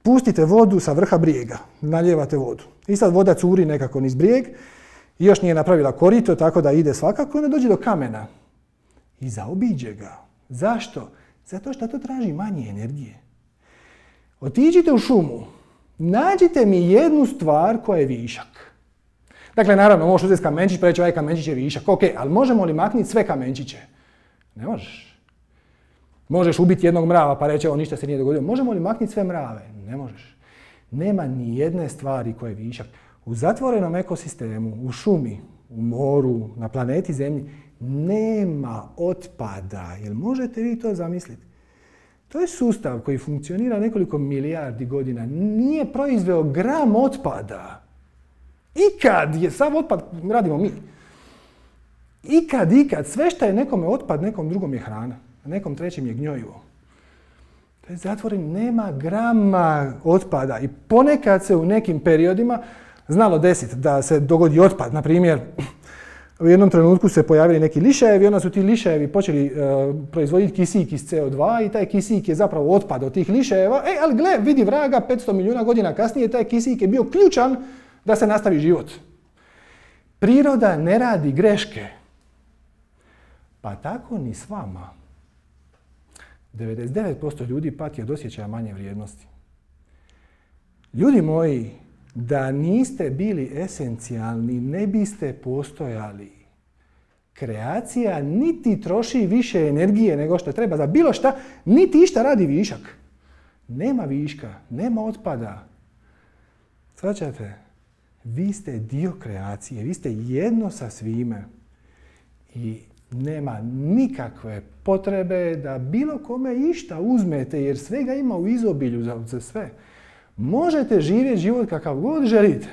Pustite vodu sa vrha brijega, nalijevate vodu. I sad voda curi nekako niz brijeg, i još nije napravila korito, tako da ide svakako, onda dođe do kamena. I zaobiđe ga. Zašto? Zato što to traži manje energije. Otiđite u šumu, nađite mi jednu stvar koja je višak. Dakle, naravno, možeš uzeti kamenčić, pa reći ovaj kamenčić je višak. Ok, ali možemo li maknuti sve kamenčiće? Ne možeš. Možeš ubiti jednog mrava pa reći, evo, ništa se nije dogodilo. Možemo li maknuti sve mrave? Ne možeš. Nema ni jedne stvari koja je višak. U zatvorenom ekosistemu, u šumi, u moru, na planeti Zemlji, nema otpada. Jel možete vi to zamisliti? To je sustav koji funkcionira nekoliko milijardi godina. Nije proizveo gram otpada. Ikad je sav otpad, radimo mi. Ikad, ikad, sve što je nekome otpad, nekom drugom je hrana. A nekom trećem je gnjojivo. To je zatvoren, nema grama otpada. I ponekad se u nekim periodima znalo desiti da se dogodi otpad. Na primjer, u jednom trenutku se pojavili neki lišajevi, onda su ti lišajevi počeli uh, proizvoditi kisik iz C O dva i taj kisik je zapravo otpad od tih lišajeva. E, ali gle, vidi vraga, petsto milijuna godina kasnije taj kisik je bio ključan da se nastavi život. Priroda ne radi greške. Pa tako ni s vama. devedeset devet posto ljudi pati od osjećaja manje vrijednosti. Ljudi moji, da niste bili esencijalni, ne biste postojali. Kreacija niti troši više energije nego što treba za bilo šta, niti išta radi višak. Nema viška, nema otpada. Shvaćate? Vi ste dio kreacije, vi ste jedno sa svime. I nema nikakve potrebe da bilo kome išta uzmete, jer svega ima u izobilju za, za sve. Možete živjeti život kakav god želite.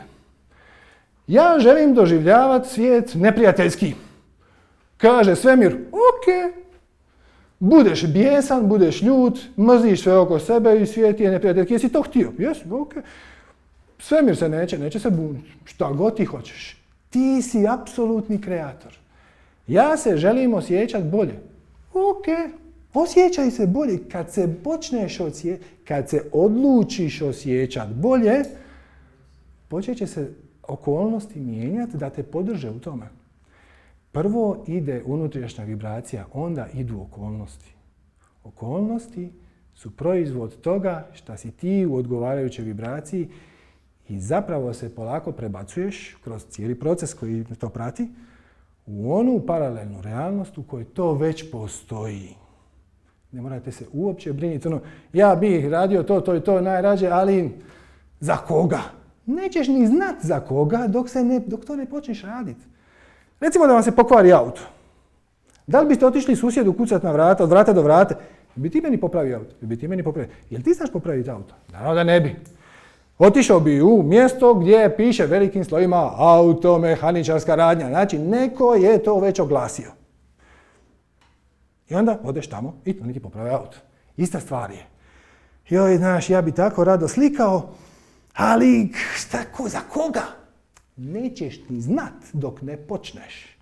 Ja želim doživljavati svijet neprijateljski. Kaže svemir, ok. Budeš bijesan, budeš ljut, mrziš sve oko sebe i svijet je neprijateljski. Jesi to htio? Jesi, ok. Svemir se neće, neće se buniti. Šta god ti hoćeš. Ti si apsolutni kreator. Ja se želim osjećati bolje. Ok. Osjećaj se bolje. Kad se počneš osjećati, kad se odlučiš osjećati bolje, počet će se okolnosti mijenjati da te podrže u tome. Prvo ide unutrašnja vibracija, onda idu okolnosti. Okolnosti su proizvod toga što si ti u odgovarajućoj vibraciji i zapravo se polako prebacuješ kroz cijeli proces koji to prati u onu paralelnu realnost u kojoj to već postoji. Ne morate se uopće brinuti, ono, ja bih radio to, to i to najrađe, ali za koga? Nećeš ni znat za koga dok, se ne, dok to ne počneš raditi. Recimo da vam se pokvari auto. Da li biste otišli susjedu kucati na vrata, od vrata do vrata? Bi ti meni popravio auto? Bi ti meni popravio? Jel ti znaš popraviti auto? Naravno da ne bi. Otišao bi u mjesto gdje piše velikim slovima automehaničarska radnja. Znači, neko je to već oglasio. I onda odeš tamo i oni ti poprave auto. Ista stvar je. Joj, znaš, ja bi tako rado slikao, ali šta, ko, za koga? Nećeš ni znat dok ne počneš.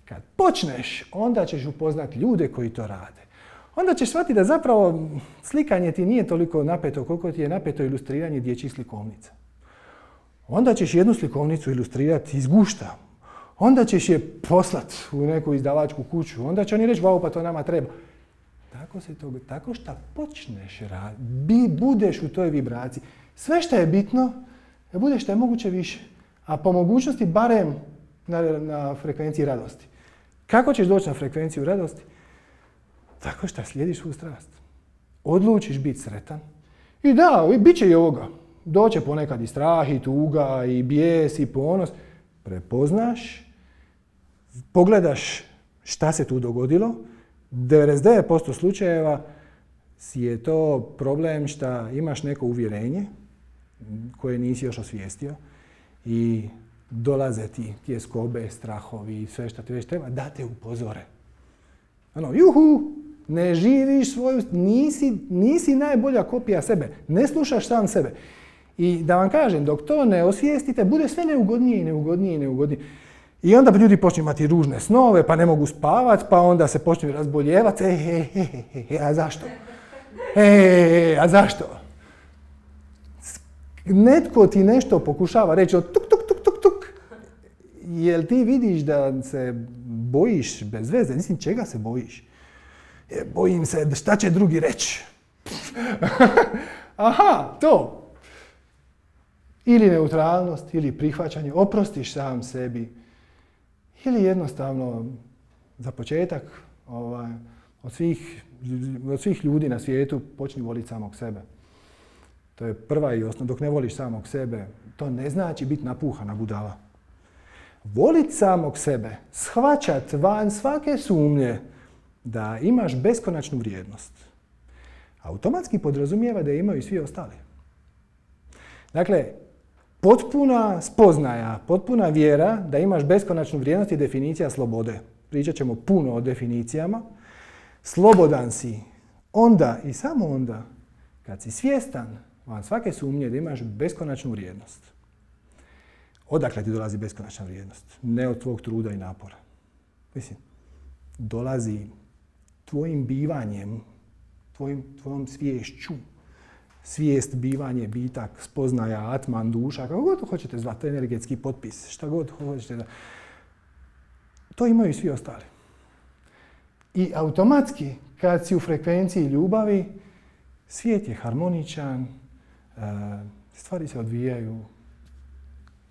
Kad počneš, onda ćeš upoznat ljude koji to rade. Onda ćeš shvatiti da zapravo slikanje ti nije toliko napeto koliko ti je napeto ilustriranje dječjih slikovnica. Onda ćeš jednu slikovnicu ilustrirati iz gušta. Onda ćeš je poslat u neku izdavačku kuću. Onda će oni reći, wow, pa to nama treba. Tako se to, tako što počneš raditi, budeš u toj vibraciji. Sve što je bitno, da budeš što je moguće više. A po mogućnosti barem na, na frekvenciji radosti. Kako ćeš doći na frekvenciju radosti? Tako što slijediš svu strast. Odlučiš biti sretan. I da, bit će i ovoga. Doće ponekad i strah, i tuga, i bijes, i ponos. Prepoznaš, pogledaš šta se tu dogodilo. devedeset devet posto slučajeva je to problem što imaš neko uvjerenje koje nisi još osvijestio i dolaze ti tjeskobe, strahovi i sve što ti već treba da te upozore. Ano, juhu, ne živiš svoju, nisi, nisi najbolja kopija sebe, ne slušaš sam sebe. I da vam kažem, dok to ne osvijestite, bude sve neugodnije i neugodnije i neugodnije. I onda ljudi počnu imati ružne snove, pa ne mogu spavati, pa onda se počnu razboljevati. E, he, he, he, he, a zašto? E, a zašto? Netko ti nešto pokušava reći od tuk, tuk, tuk, tuk, tuk. Jel ti vidiš da se bojiš bez veze? Mislim, čega se bojiš? E, bojim se šta će drugi reći. Aha, to. Ili neutralnost, ili prihvaćanje, oprostiš sam sebi. Ili jednostavno, za početak, ovaj, od, svih, od svih ljudi na svijetu počni voliti samog sebe. To je prva i osnova. Dok ne voliš samog sebe, to ne znači biti napuhana budala. Volit samog sebe, shvaćat van svake sumnje da imaš beskonačnu vrijednost, automatski podrazumijeva da imaju i svi ostali. Dakle, potpuna spoznaja, potpuna vjera da imaš beskonačnu vrijednost je definicija slobode. Pričat ćemo puno o definicijama. Slobodan si onda i samo onda kad si svjestan van svake sumnje da imaš beskonačnu vrijednost. Odakle ti dolazi beskonačna vrijednost? Ne od tvog truda i napora. Mislim, dolazi tvojim bivanjem, tvojim, tvojom sviješću. Svijest, bivanje, bitak, spoznaja, atman, duša, kako god hoćete zvati, energetski potpis, šta god hoćete da... To imaju i svi ostali. I automatski, kad si u frekvenciji ljubavi, svijet je harmoničan, stvari se odvijaju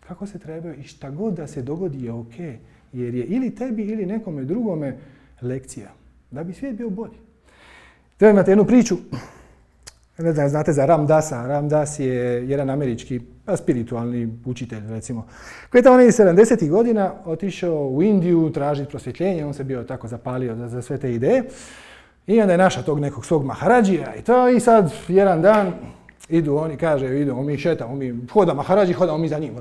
kako se trebaju i šta god da se dogodi je ok. Jer je ili tebi ili nekome drugome lekcija. Da bi svijet bio bolji. Treba imate jednu priču. Ne znam, znate za Ram Dasa. Ram Das je jedan američki spiritualni učitelj, recimo, koji je tamo negdje sedamdesetih godina otišao u Indiju tražiti prosvjetljenje. On se bio tako zapalio za, za sve te ideje. I onda je našao tog nekog svog maharadžija i to. I sad jedan dan Idu oni, kaže, idemo mi šetamo, mi hoda Maharađi, hodamo mi za njim.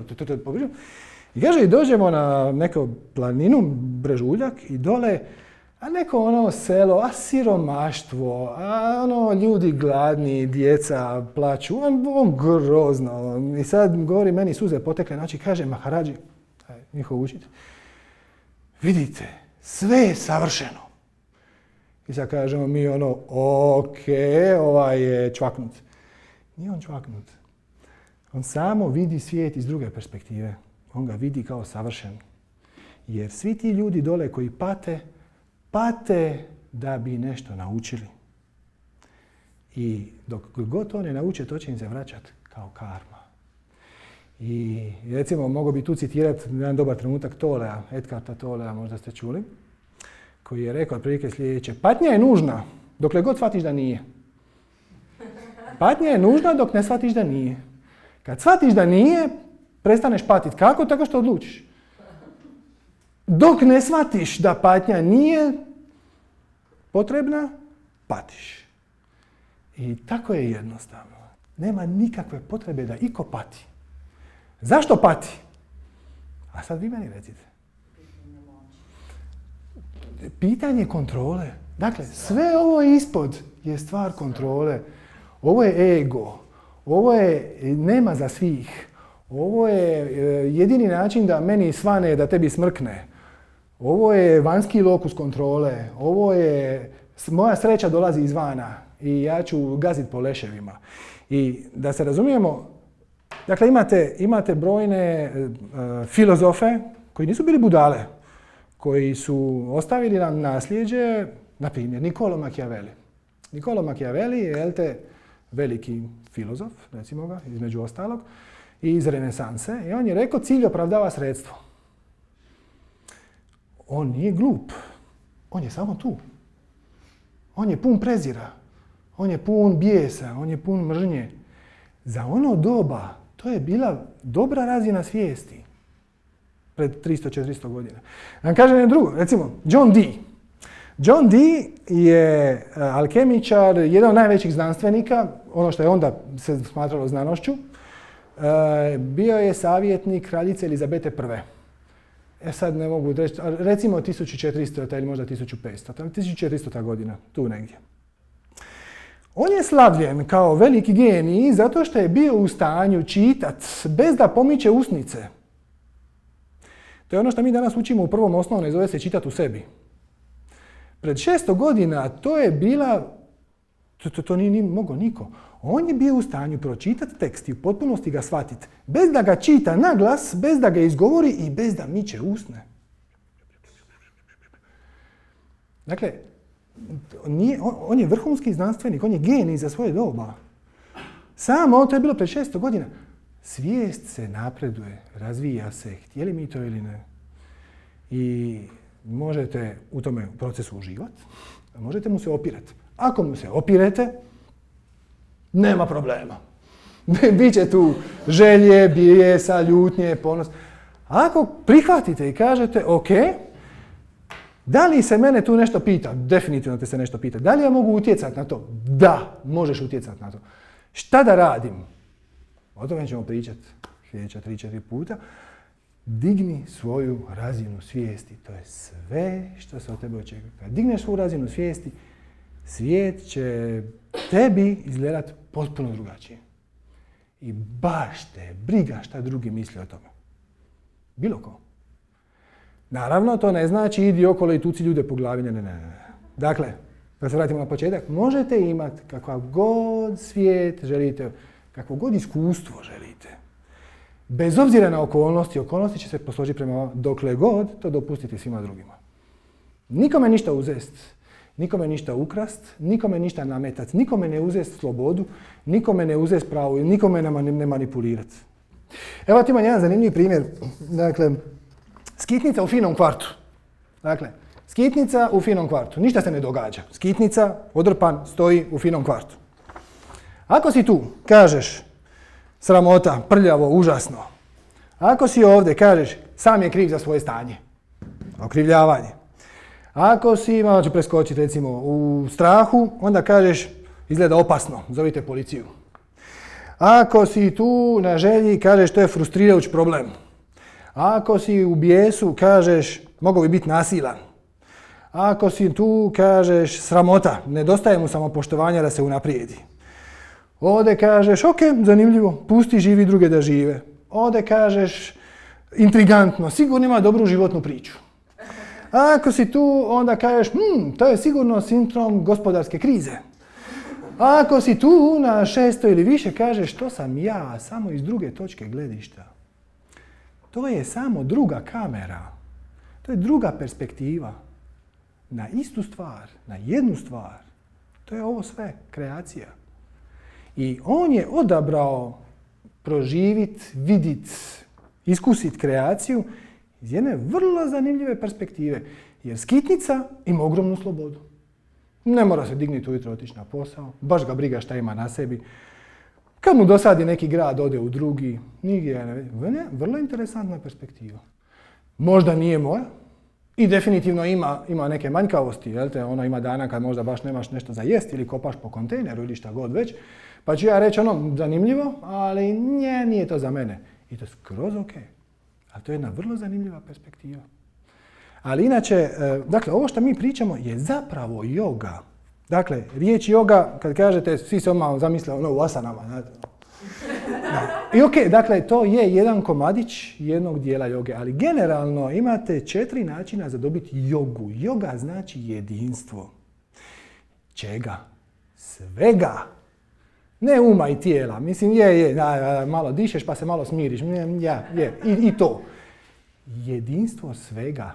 I kaže, i dođemo na neku planinu, Brežuljak, i dole, a neko ono selo, a siromaštvo, a ono ljudi gladni, djeca plaću, on, on grozno. I sad govori, meni suze potekle, znači kaže Maharađi, njihov učitelj, vidite, sve je savršeno. I sad kažemo mi ono, ok, ovaj je čvaknut. Nije on čvaknut. On samo vidi svijet iz druge perspektive. On ga vidi kao savršen. Jer svi ti ljudi dole koji pate, pate da bi nešto naučili. I dok god to ne nauče, to će im se vraćati kao karma. I recimo, mogu bi tu citirati jedan dobar trenutak Tolea, Edkarta Tolea, možda ste čuli, koji je rekao otprilike sljedeće. Patnja je nužna dokle god shvatiš da nije. Patnja je nužna dok ne shvatiš da nije. Kad shvatiš da nije, prestaneš patiti. Kako? Tako što odlučiš. Dok ne shvatiš da patnja nije potrebna, patiš. I tako je jednostavno. Nema nikakve potrebe da iko pati. Zašto pati? A sad vi meni recite. Pitanje kontrole. Dakle, sve ovo ispod je stvar kontrole. Ovo je ego. Ovo je nema za svih. Ovo je jedini način da meni svane, da tebi smrkne. Ovo je vanjski lokus kontrole. Ovo je moja sreća dolazi izvana i ja ću gaziti po leševima. I da se razumijemo, dakle imate, imate brojne uh, filozofe koji nisu bili budale, koji su ostavili nam nasljeđe, na primjer Niccolo Machiavelli. Niccolo Machiavelli je, jel te, veliki filozof, recimo ga, između ostalog, iz renesanse. I on je rekao, cilj opravdava sredstvo. On nije glup. On je samo tu. On je pun prezira. On je pun bijesa. On je pun mržnje. Za ono doba to je bila dobra razina svijesti. Pred tristo do četiristo godina. Da vam kažem jedno drugo. Recimo, John Dee. John Dee je alkemičar, jedan od najvećih znanstvenika, ono što je onda se smatralo znanošću. Bio je savjetnik kraljice Elizabete prve. E sad ne mogu reći, recimo tisuću četiristo ili možda tisuću petsto, tisuću četiristo godina, tu negdje. On je slavljen kao veliki genij zato što je bio u stanju čitati bez da pomiče usnice. To je ono što mi danas učimo u prvom osnovnom, zove se čitati u sebi. Pred šesto godina to je bila, to, to, to nije, nije mogao niko. On je bio u stanju pročitati tekst i u potpunosti ga shvatiti, bez da ga čita na glas, bez da ga izgovori i bez da miče usne. Dakle, nije, on, on je vrhunski znanstvenik, on je genij za svoje doba. Samo to je bilo pred šesto godina. Svijest se napreduje, razvija se, htjeli mi to ili ne. I možete u tome procesu uživati, a možete mu se opirati. Ako mu se opirete, nema problema. Biće tu želje, bijesa, ljutnje, ponos. Ako prihvatite i kažete, ok, da li se mene tu nešto pita? Definitivno te se nešto pita. Da li ja mogu utjecati na to? Da, možeš utjecati na to. Šta da radim? O tome ćemo pričati sljedeća tri četiri puta. Digni svoju razinu svijesti. To je sve što se od tebe očekuje. Kad digneš svoju razinu svijesti, svijet će tebi izgledati potpuno drugačije. I baš te briga šta drugi misle o tome. Bilo ko. Naravno, to ne znači idi okolo i tuci ljude po glavi. Ne, ne, ne. Dakle, da se vratimo na početak, možete imati kakav god svijet želite, kakvo god iskustvo želite. Bez obzira na okolnosti, okolnosti će se posložiti prema dokle god to dopustiti svima drugima. Nikome ništa uzest, nikome ništa ukrast, nikome ništa nametati, nikome ne uzest slobodu, nikome ne uzest pravo i nikome ne manipulirati. Evo ti imam jedan zanimljiv primjer. Dakle, skitnica u finom kvartu. Dakle, skitnica u finom kvartu. Ništa se ne događa. Skitnica, odrpan, stoji u finom kvartu. Ako si tu, kažeš sramota, prljavo, užasno. Ako si ovdje, kažeš sam je kriv za svoje stanje. Okrivljavanje. Ako si, malo ću preskočiti recimo, u strahu, onda kažeš izgleda opasno, zovite policiju. Ako si tu na želji, kažeš to je frustrirajući problem. Ako si u bijesu, kažeš mogao bi biti nasilan. Ako si tu, kažeš sramota, nedostaje mu samopoštovanja da se unaprijedi. Ovdje kažeš, ok, zanimljivo, pusti živi druge da žive. Ovdje kažeš, intrigantno, sigurno ima dobru životnu priču. Ako si tu, onda kažeš, hm, to je sigurno sindrom gospodarske krize. Ako si tu na šesto ili više, kažeš, to sam ja, samo iz druge točke gledišta. To je samo druga kamera. To je druga perspektiva. Na istu stvar, na jednu stvar. To je ovo sve, kreacija. I on je odabrao proživit, vidit, iskusit kreaciju iz jedne vrlo zanimljive perspektive. Jer skitnica ima ogromnu slobodu. Ne mora se dignuti ujutro, otići na posao. Baš ga briga šta ima na sebi. Kad mu dosadi neki grad, ode u drugi. Nigdje ne vidi. Vrlo interesantna perspektiva. Možda nije moja. I definitivno ima, ima neke manjkavosti. Jel te? Ono ima dana kad možda baš nemaš nešto za jest ili kopaš po kontejneru ili šta god već. Pa ću ja reći ono zanimljivo, ali nje, nije to za mene. I to je skroz ok. Ali to je jedna vrlo zanimljiva perspektiva. Ali inače, dakle, ovo što mi pričamo je zapravo yoga. Dakle, riječ yoga, kad kažete, svi se odmah zamisle ono u asanama. Znate. I ok, dakle, to je jedan komadić jednog dijela joge, ali generalno imate četiri načina za dobiti jogu. Joga znači jedinstvo. Čega? Svega. Ne uma i tijela. Mislim, je, je, da, malo dišeš pa se malo smiriš. Ja, je, i, i to. Jedinstvo svega.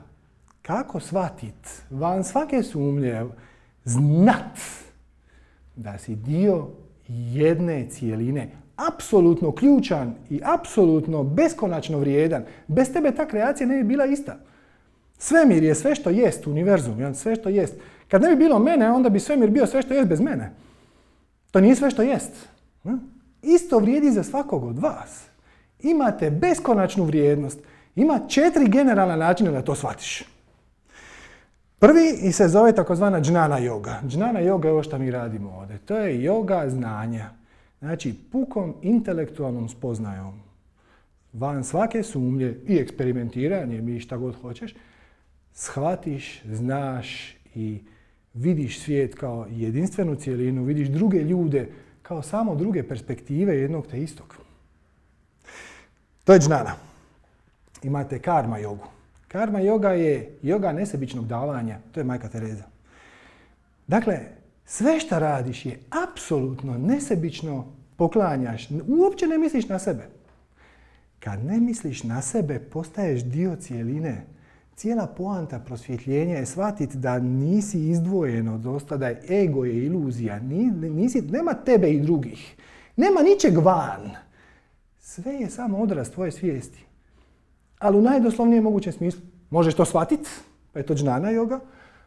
Kako shvatit, van svake sumnje, znat da si dio jedne cijeline, apsolutno ključan i apsolutno beskonačno vrijedan. Bez tebe ta kreacija ne bi bila ista. Svemir je sve što jest, univerzum, sve što jest. Kad ne bi bilo mene, onda bi svemir bio sve što jest bez mene. To nije sve što jest. Isto vrijedi za svakog od vas. Imate beskonačnu vrijednost. Ima četiri generalna načina da to shvatiš. Prvi se zove takozvana džnana yoga. Džnana yoga je ovo što mi radimo ovdje. To je yoga znanja. Znači, pukom intelektualnom spoznajom, van svake sumnje i eksperimentiranje, mi šta god hoćeš, shvatiš, znaš i vidiš svijet kao jedinstvenu cijelinu, vidiš druge ljude kao samo druge perspektive jednog te istog. To je džnana. Imate karma jogu. Karma yoga je yoga nesebičnog davanja. To je Majka Tereza. Dakle, sve što radiš je apsolutno nesebično poklanjaš. Uopće ne misliš na sebe. Kad ne misliš na sebe, postaješ dio cijeline. Cijela poanta prosvjetljenja je shvatiti da nisi izdvojen od osta, da je ego je iluzija. Nisi, nema tebe i drugih. Nema ničeg van. Sve je samo odraz tvoje svijesti. Ali u najdoslovnijem mogućem smislu. Možeš to shvatiti, pa je to džnana yoga.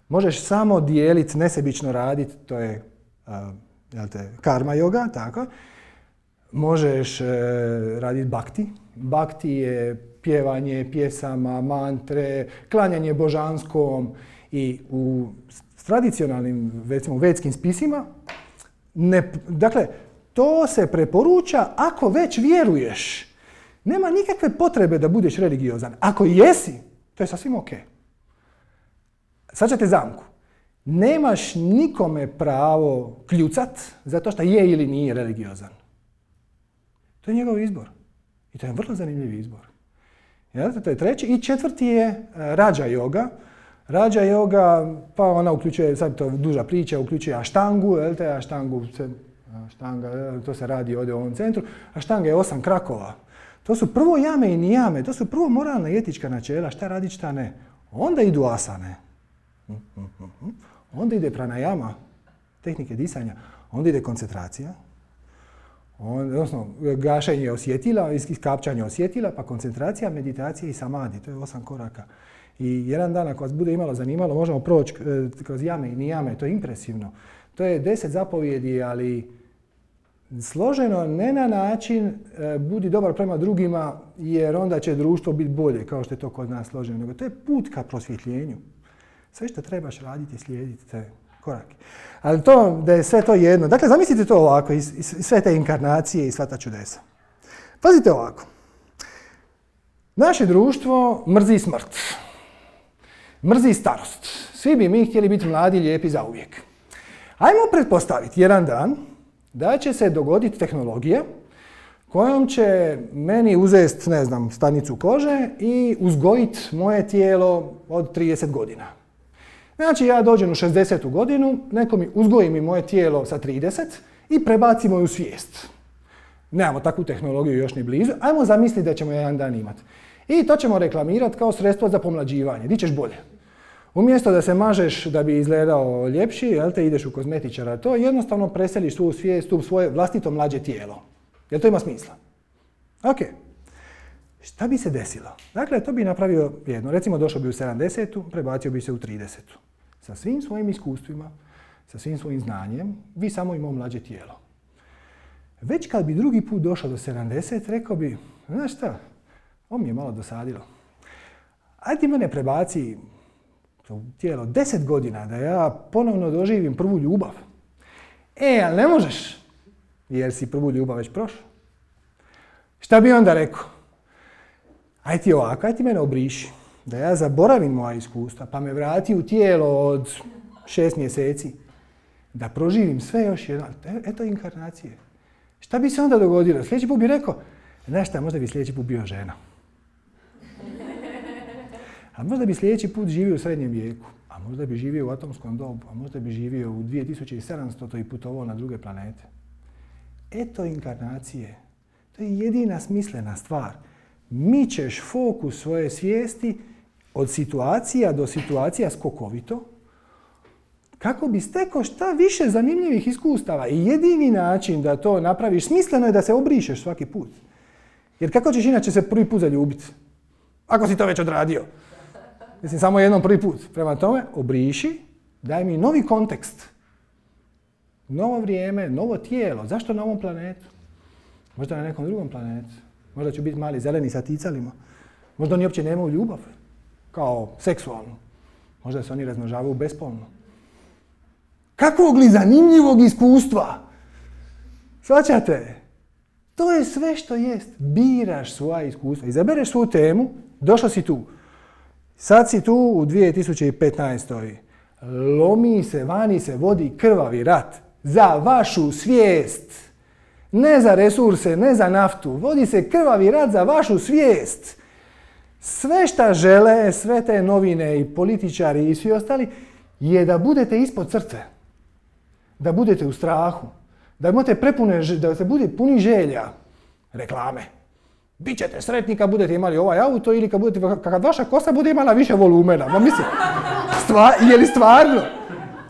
Možeš samo dijeliti, nesebično raditi, to je uh, jel te, karma yoga, tako. Možeš uh, raditi bhakti. Bhakti je pjevanje pjesama, mantre, klanjanje božanskom i u tradicionalnim, recimo, vedskim spisima, ne, dakle, to se preporuča ako već vjeruješ. Nema nikakve potrebe da budeš religiozan. Ako jesi, to je sasvim ok. Svađate zamku. Nemaš nikome pravo kljucat zato što je ili nije religiozan. To je njegov izbor. I to je vrlo zanimljiv izbor. Jel? To je treći. I četvrti je rađa yoga. Rađa yoga, pa ona uključuje, sad to duža priča, uključuje aštangu. Jel? Te aštangu, aštanga, to se radi ovdje u ovom centru. Aštanga je osam krakova. To su prvo jame i nijame, to su prvo moralna i etička načela, šta raditi, šta ne. Onda idu asane. Onda ide pranajama, tehnike disanja. Onda ide koncentracija. Odnosno, gašenje osjetila, iskapčanje osjetila, pa koncentracija, meditacija i samadi. To je osam koraka. I jedan dan, ako vas bude imalo zanimalo, možemo proći kroz jame i nijame. To je impresivno. To je deset zapovjedi, ali složeno ne na način e, budi dobar prema drugima jer onda će društvo biti bolje, kao što je to kod nas složeno, nego to je put ka prosvjetljenju. Sve što trebaš raditi, slijediti te korake. Ali to, da je sve to jedno. Dakle, zamislite to ovako, i, i sve te inkarnacije i sva ta čudesa. Pazite ovako. Naše društvo mrzi smrt. Mrzi starost. Svi bi mi htjeli biti mladi i lijepi zauvijek. Ajmo pretpostaviti jedan dan da će se dogoditi tehnologija kojom će meni uzeti, ne znam, stanicu kože i uzgojiti moje tijelo od trideset godina. Znači, ja dođem u šezdesetu godinu, neko mi uzgoji mi moje tijelo sa trideset i prebaci moju svijest. Nemamo takvu tehnologiju još ni blizu, ajmo zamisliti da ćemo jedan dan imati. I to ćemo reklamirati kao sredstvo za pomlađivanje. Di ćeš bolje? Umjesto da se mažeš da bi izgledao ljepši, jel te, ideš u kozmetičara, to jednostavno preseliš svu svijest u svoje vlastito mlađe tijelo. Jel to ima smisla? Ok. Šta bi se desilo? Dakle, to bi napravio jedno. Recimo, došao bi u sedamdesetu, prebacio bi se u tridesetu. Sa svim svojim iskustvima, sa svim svojim znanjem, vi samo imao mlađe tijelo. Već kad bi drugi put došao do sedamdeset, rekao bi, znaš šta, ovo mi je malo dosadilo. Ajde ti mene prebaci u tijelo deset godina da ja ponovno doživim prvu ljubav. E, ali ne možeš, jer si prvu ljubav već prošao. Šta bi onda rekao? Ajde ti ovako, ajde ti mene obriši, da ja zaboravim moja iskustva, pa me vrati u tijelo od šest mjeseci, da proživim sve još jedno. Eto inkarnacije. Šta bi se onda dogodilo? Sljedeći put bi rekao, znaš šta, možda bi sljedeći put bio žena. A možda bi sljedeći put živio u srednjem vijeku, a možda bi živio u atomskom dobu, a možda bi živio u dvije tisuće sedamsto i putovao na druge planete. Eto inkarnacije. To je jedina smislena stvar. Mičeš fokus svoje svijesti od situacija do situacija skokovito, kako bi stekao šta više zanimljivih iskustava. I jedini način da to napraviš smisleno je da se obrišeš svaki put. Jer kako ćeš inače se prvi put zaljubiti? Ako si to već odradio. Mislim, samo jednom prvi put. Prema tome, obriši, daj mi novi kontekst. Novo vrijeme, novo tijelo. Zašto na ovom planetu? Možda na nekom drugom planetu. Možda ću biti mali zeleni sa ticalima. Možda oni uopće nemaju ljubav. Kao seksualnu. Možda se oni razmnožavaju bespolno. Kakvog li zanimljivog iskustva? Shvaćate? To je sve što jest. Biraš svoja iskustva. Izabereš svoju temu, došao si tu. Sad si tu u dvije tisuće petnaestoj. Lomi se, vani se vodi krvavi rat. Za vašu svijest. Ne za resurse, ne za naftu. Vodi se krvavi rat za vašu svijest. Sve šta žele, sve te novine i političari i svi ostali, je da budete ispod crte. Da budete u strahu. Da imate prepune, da se bude puni želja. Reklame. Bićete sretni kad budete imali ovaj auto ili kad, budete, kad vaša kosa bude imala više volumena. Ma mislim, stva, je li stvarno?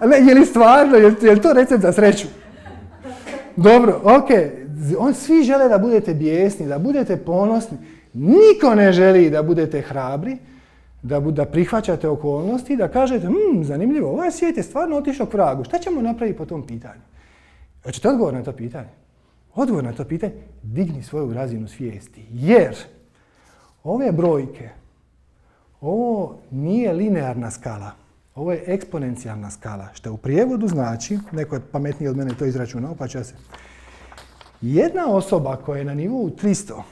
Ne, je li stvarno? Je, je li to recept za sreću? Dobro, ok. On, svi žele da budete bijesni, da budete ponosni. Niko ne želi da budete hrabri, da, da prihvaćate okolnosti i da kažete, hm, zanimljivo, ovaj svijet je stvarno otišao k vragu. Šta ćemo napraviti po tom pitanju? Hoćete odgovor na to pitanje? Odgovor na to pitanje, digni svoju razinu svijesti. Jer ove brojke, ovo nije linearna skala, ovo je eksponencijalna skala, što u prijevodu znači, neko je pametniji od mene to izračunao, pa će se. Jedna osoba koja je na nivou tristo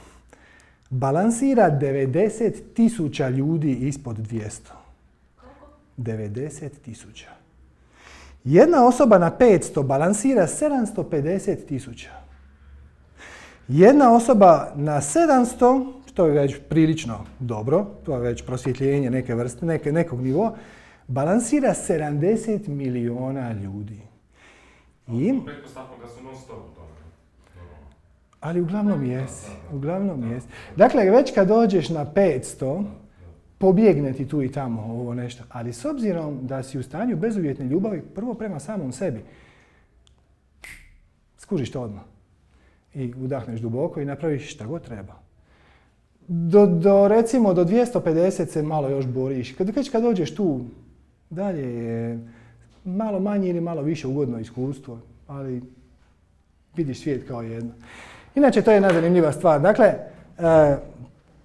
balansira devedeset tisuća ljudi ispod dvjesto. devedeset tisuća. Jedna osoba na petsto balansira sedamsto pedeset tisuća. Jedna osoba na sedamsto, što je već prilično dobro, to je već prosvjetljenje neke vrste, neke, nekog nivoa, balansira sedamdeset miliona ljudi. I, pretpostavljam da su non stop u tome. ali uglavnom jesi, uglavnom jesi. Dakle, već kad dođeš na petsto, pobjegne ti tu i tamo ovo nešto. Ali s obzirom da si u stanju bezuvjetne ljubavi, prvo prema samom sebi, skužiš to odmah. I udahneš duboko i napraviš šta god treba. Do, do recimo do dvjesto pedeset se malo još boriš. Kad, kad, kad dođeš tu, dalje je malo manje ili malo više ugodno iskustvo, ali vidiš svijet kao jedno. Inače, to je jedna zanimljiva stvar. Dakle, e,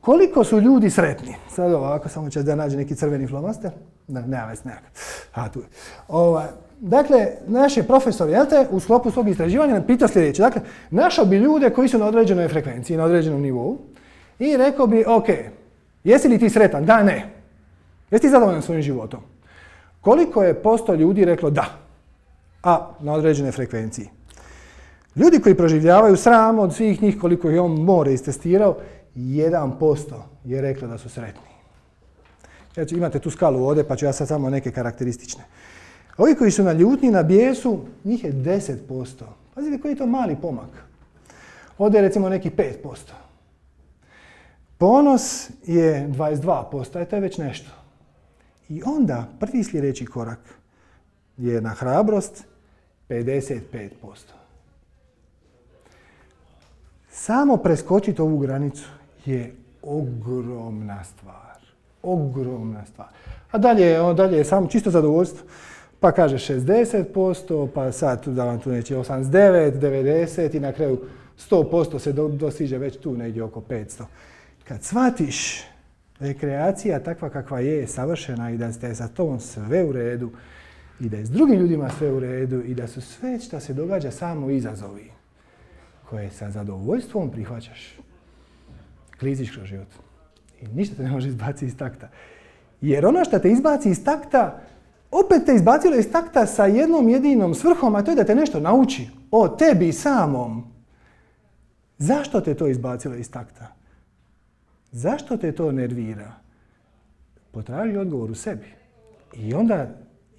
koliko su ljudi sretni? Sad ovako, samo ćeš da nađe neki crveni flomaster. Da, nema već nekako. A, tu je. Ova, dakle, naš je profesor, jel te, u sklopu svog istraživanja nam pitao sljedeće. Dakle, našao bi ljude koji su na određenoj frekvenciji, na određenom nivou i rekao bi, ok, jesi li ti sretan? Da, ne. Jesi ti zadovoljan svojim životom? Koliko je posto ljudi reklo da, a na određenoj frekvenciji? Ljudi koji proživljavaju sram od svih njih, koliko je on more istestirao, jedan posto je reklo da su sretni. Znači, imate tu skalu ovdje, pa ću ja sad samo neke karakteristične. Ovi koji su na ljutnji, na bijesu, njih je deset posto. Pazite koji je to mali pomak. Ovdje je recimo neki pet posto. Ponos je dvadeset dva posto, a to je već nešto. I onda prvi sljedeći korak je na hrabrost pedeset pet posto. Samo preskočiti ovu granicu je ogromna stvar. Ogromna stvar. A dalje, dalje je samo čisto zadovoljstvo. Pa kaže šezdeset posto, pa sad da vam tu neće osamdeset devet, devedeset i na kraju sto posto se do, dosiže već tu negdje oko petsto. Kad shvatiš da je kreacija takva kakva je, savršena i da je sa tobom sve u redu i da je s drugim ljudima sve u redu i da su sve što se događa samo izazovi koje sa zadovoljstvom prihvaćaš, kliziš kroz život i ništa te ne može izbaciti iz takta. Jer ono što te izbaci iz takta, opet te izbacilo iz takta sa jednom jedinom svrhom, a to je da te nešto nauči o tebi samom. Zašto te to izbacilo iz takta? Zašto te to nervira? Potraži odgovor u sebi. I onda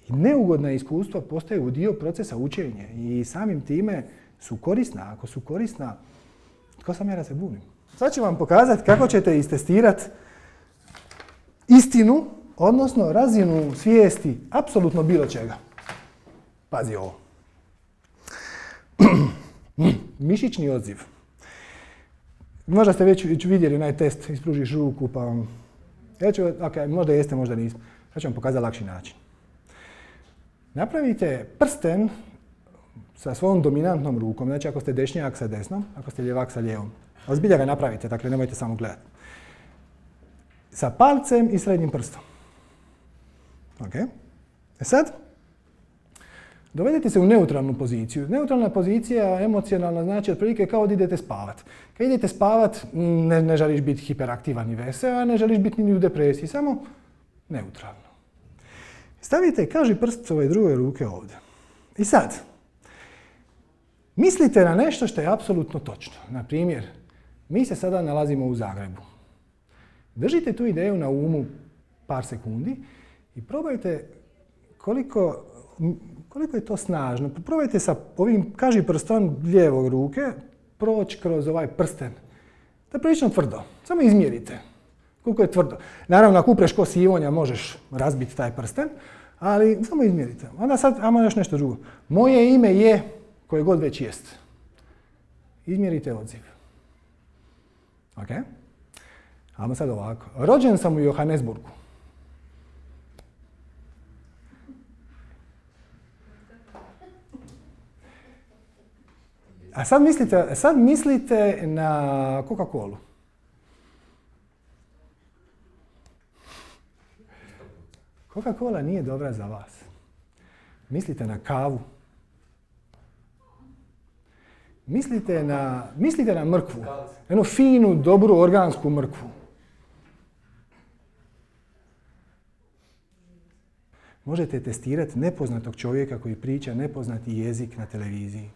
neugodna iskustva postaju dio procesa učenja i samim time su korisna. Ako su korisna, tko sam ja da se bunim? Sad ću vam pokazati kako ćete istestirati istinu, odnosno razinu svijesti apsolutno bilo čega. Pazi ovo. Mišićni odziv. Možda ste već vidjeli onaj test, ispružiš ruku pa vam... Ja ću, ok, možda jeste, možda nismo. Ja ću vam pokazati lakši način. Napravite prsten sa svojom dominantnom rukom, znači ako ste dešnjak sa desnom, ako ste ljevak sa lijevom. Ali zbilja ga napravite, dakle nemojte samo gledati. Sa palcem i srednjim prstom. Ok. E sad, dovedete se u neutralnu poziciju. Neutralna pozicija, emocionalna, znači otprilike kao da idete spavat. Kad idete spavat, ne, ne želiš biti hiperaktivan i vesel, a ne želiš biti ni u depresiji, samo neutralno. Stavite kaži prst ove druge ruke ovdje. I sad, mislite na nešto što je apsolutno točno. Na primjer, mi se sada nalazimo u Zagrebu. Držite tu ideju na umu par sekundi i probajte koliko, koliko je to snažno. Probajte sa ovim kaži prstom lijevog ruke proći kroz ovaj prsten. To je prilično tvrdo. Samo izmjerite koliko je tvrdo. Naravno, ako upreš ko sivonja, možeš razbiti taj prsten, ali samo izmjerite. Onda sad, ajmo još nešto drugo. Moje ime je koje god već jest. Izmjerite odziv. Ok? Ajmo sad ovako. Rođen sam u Johannesburgu. A sad mislite, sad mislite na Coca-Colu. Coca-Cola nije dobra za vas. Mislite na kavu. Mislite na, mislite na mrkvu. Jednu finu, dobru, organsku mrkvu. Možete testirati nepoznatog čovjeka koji priča nepoznati jezik na televiziji.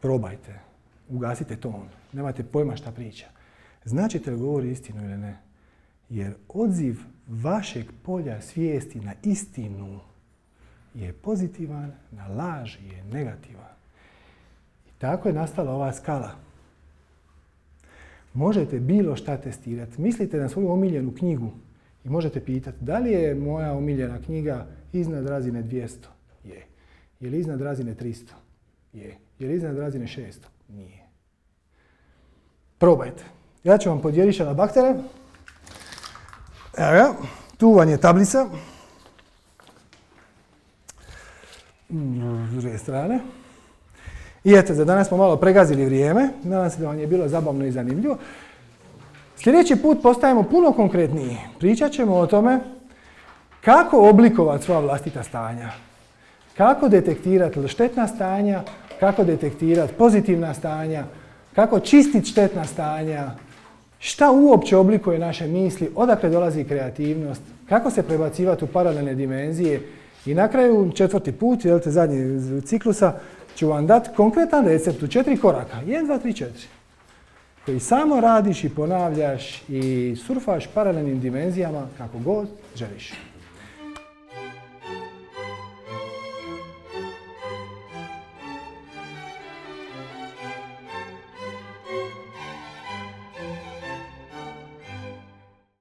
Probajte. Ugasite ton. Nemate pojma šta priča. Značite li govori istinu ili ne? Jer odziv vašeg polja svijesti na istinu je pozitivan, na laž je negativan. I tako je nastala ova skala. Možete bilo šta testirati. Mislite na svoju omiljenu knjigu i možete pitati da li je moja omiljena knjiga iznad razine dvjesto? Je. Je li iznad razine tristo? Je. Je li iznad razine šesto? Nije. Probajte. Ja ću vam podijeliti šalabahtere. Evo ga, tu vam je tablica. S druge strane. I eto, za danas smo malo pregazili vrijeme. Nadam se da vam je bilo zabavno i zanimljivo. Sljedeći put postajemo puno konkretniji. Pričat ćemo o tome kako oblikovati svoja vlastita stanja. kako detektirati štetna stanja, kako detektirati pozitivna stanja, kako čistiti štetna stanja, šta uopće oblikuje naše misli, odakle dolazi kreativnost, kako se prebacivati u paralelne dimenzije. I na kraju, četvrti put, jel te, zadnji ciklusa, ću vam dati konkretan recept u četiri koraka. jedan, dva, tri, četiri. Koji samo radiš i ponavljaš i surfaš paralelnim dimenzijama kako god želiš.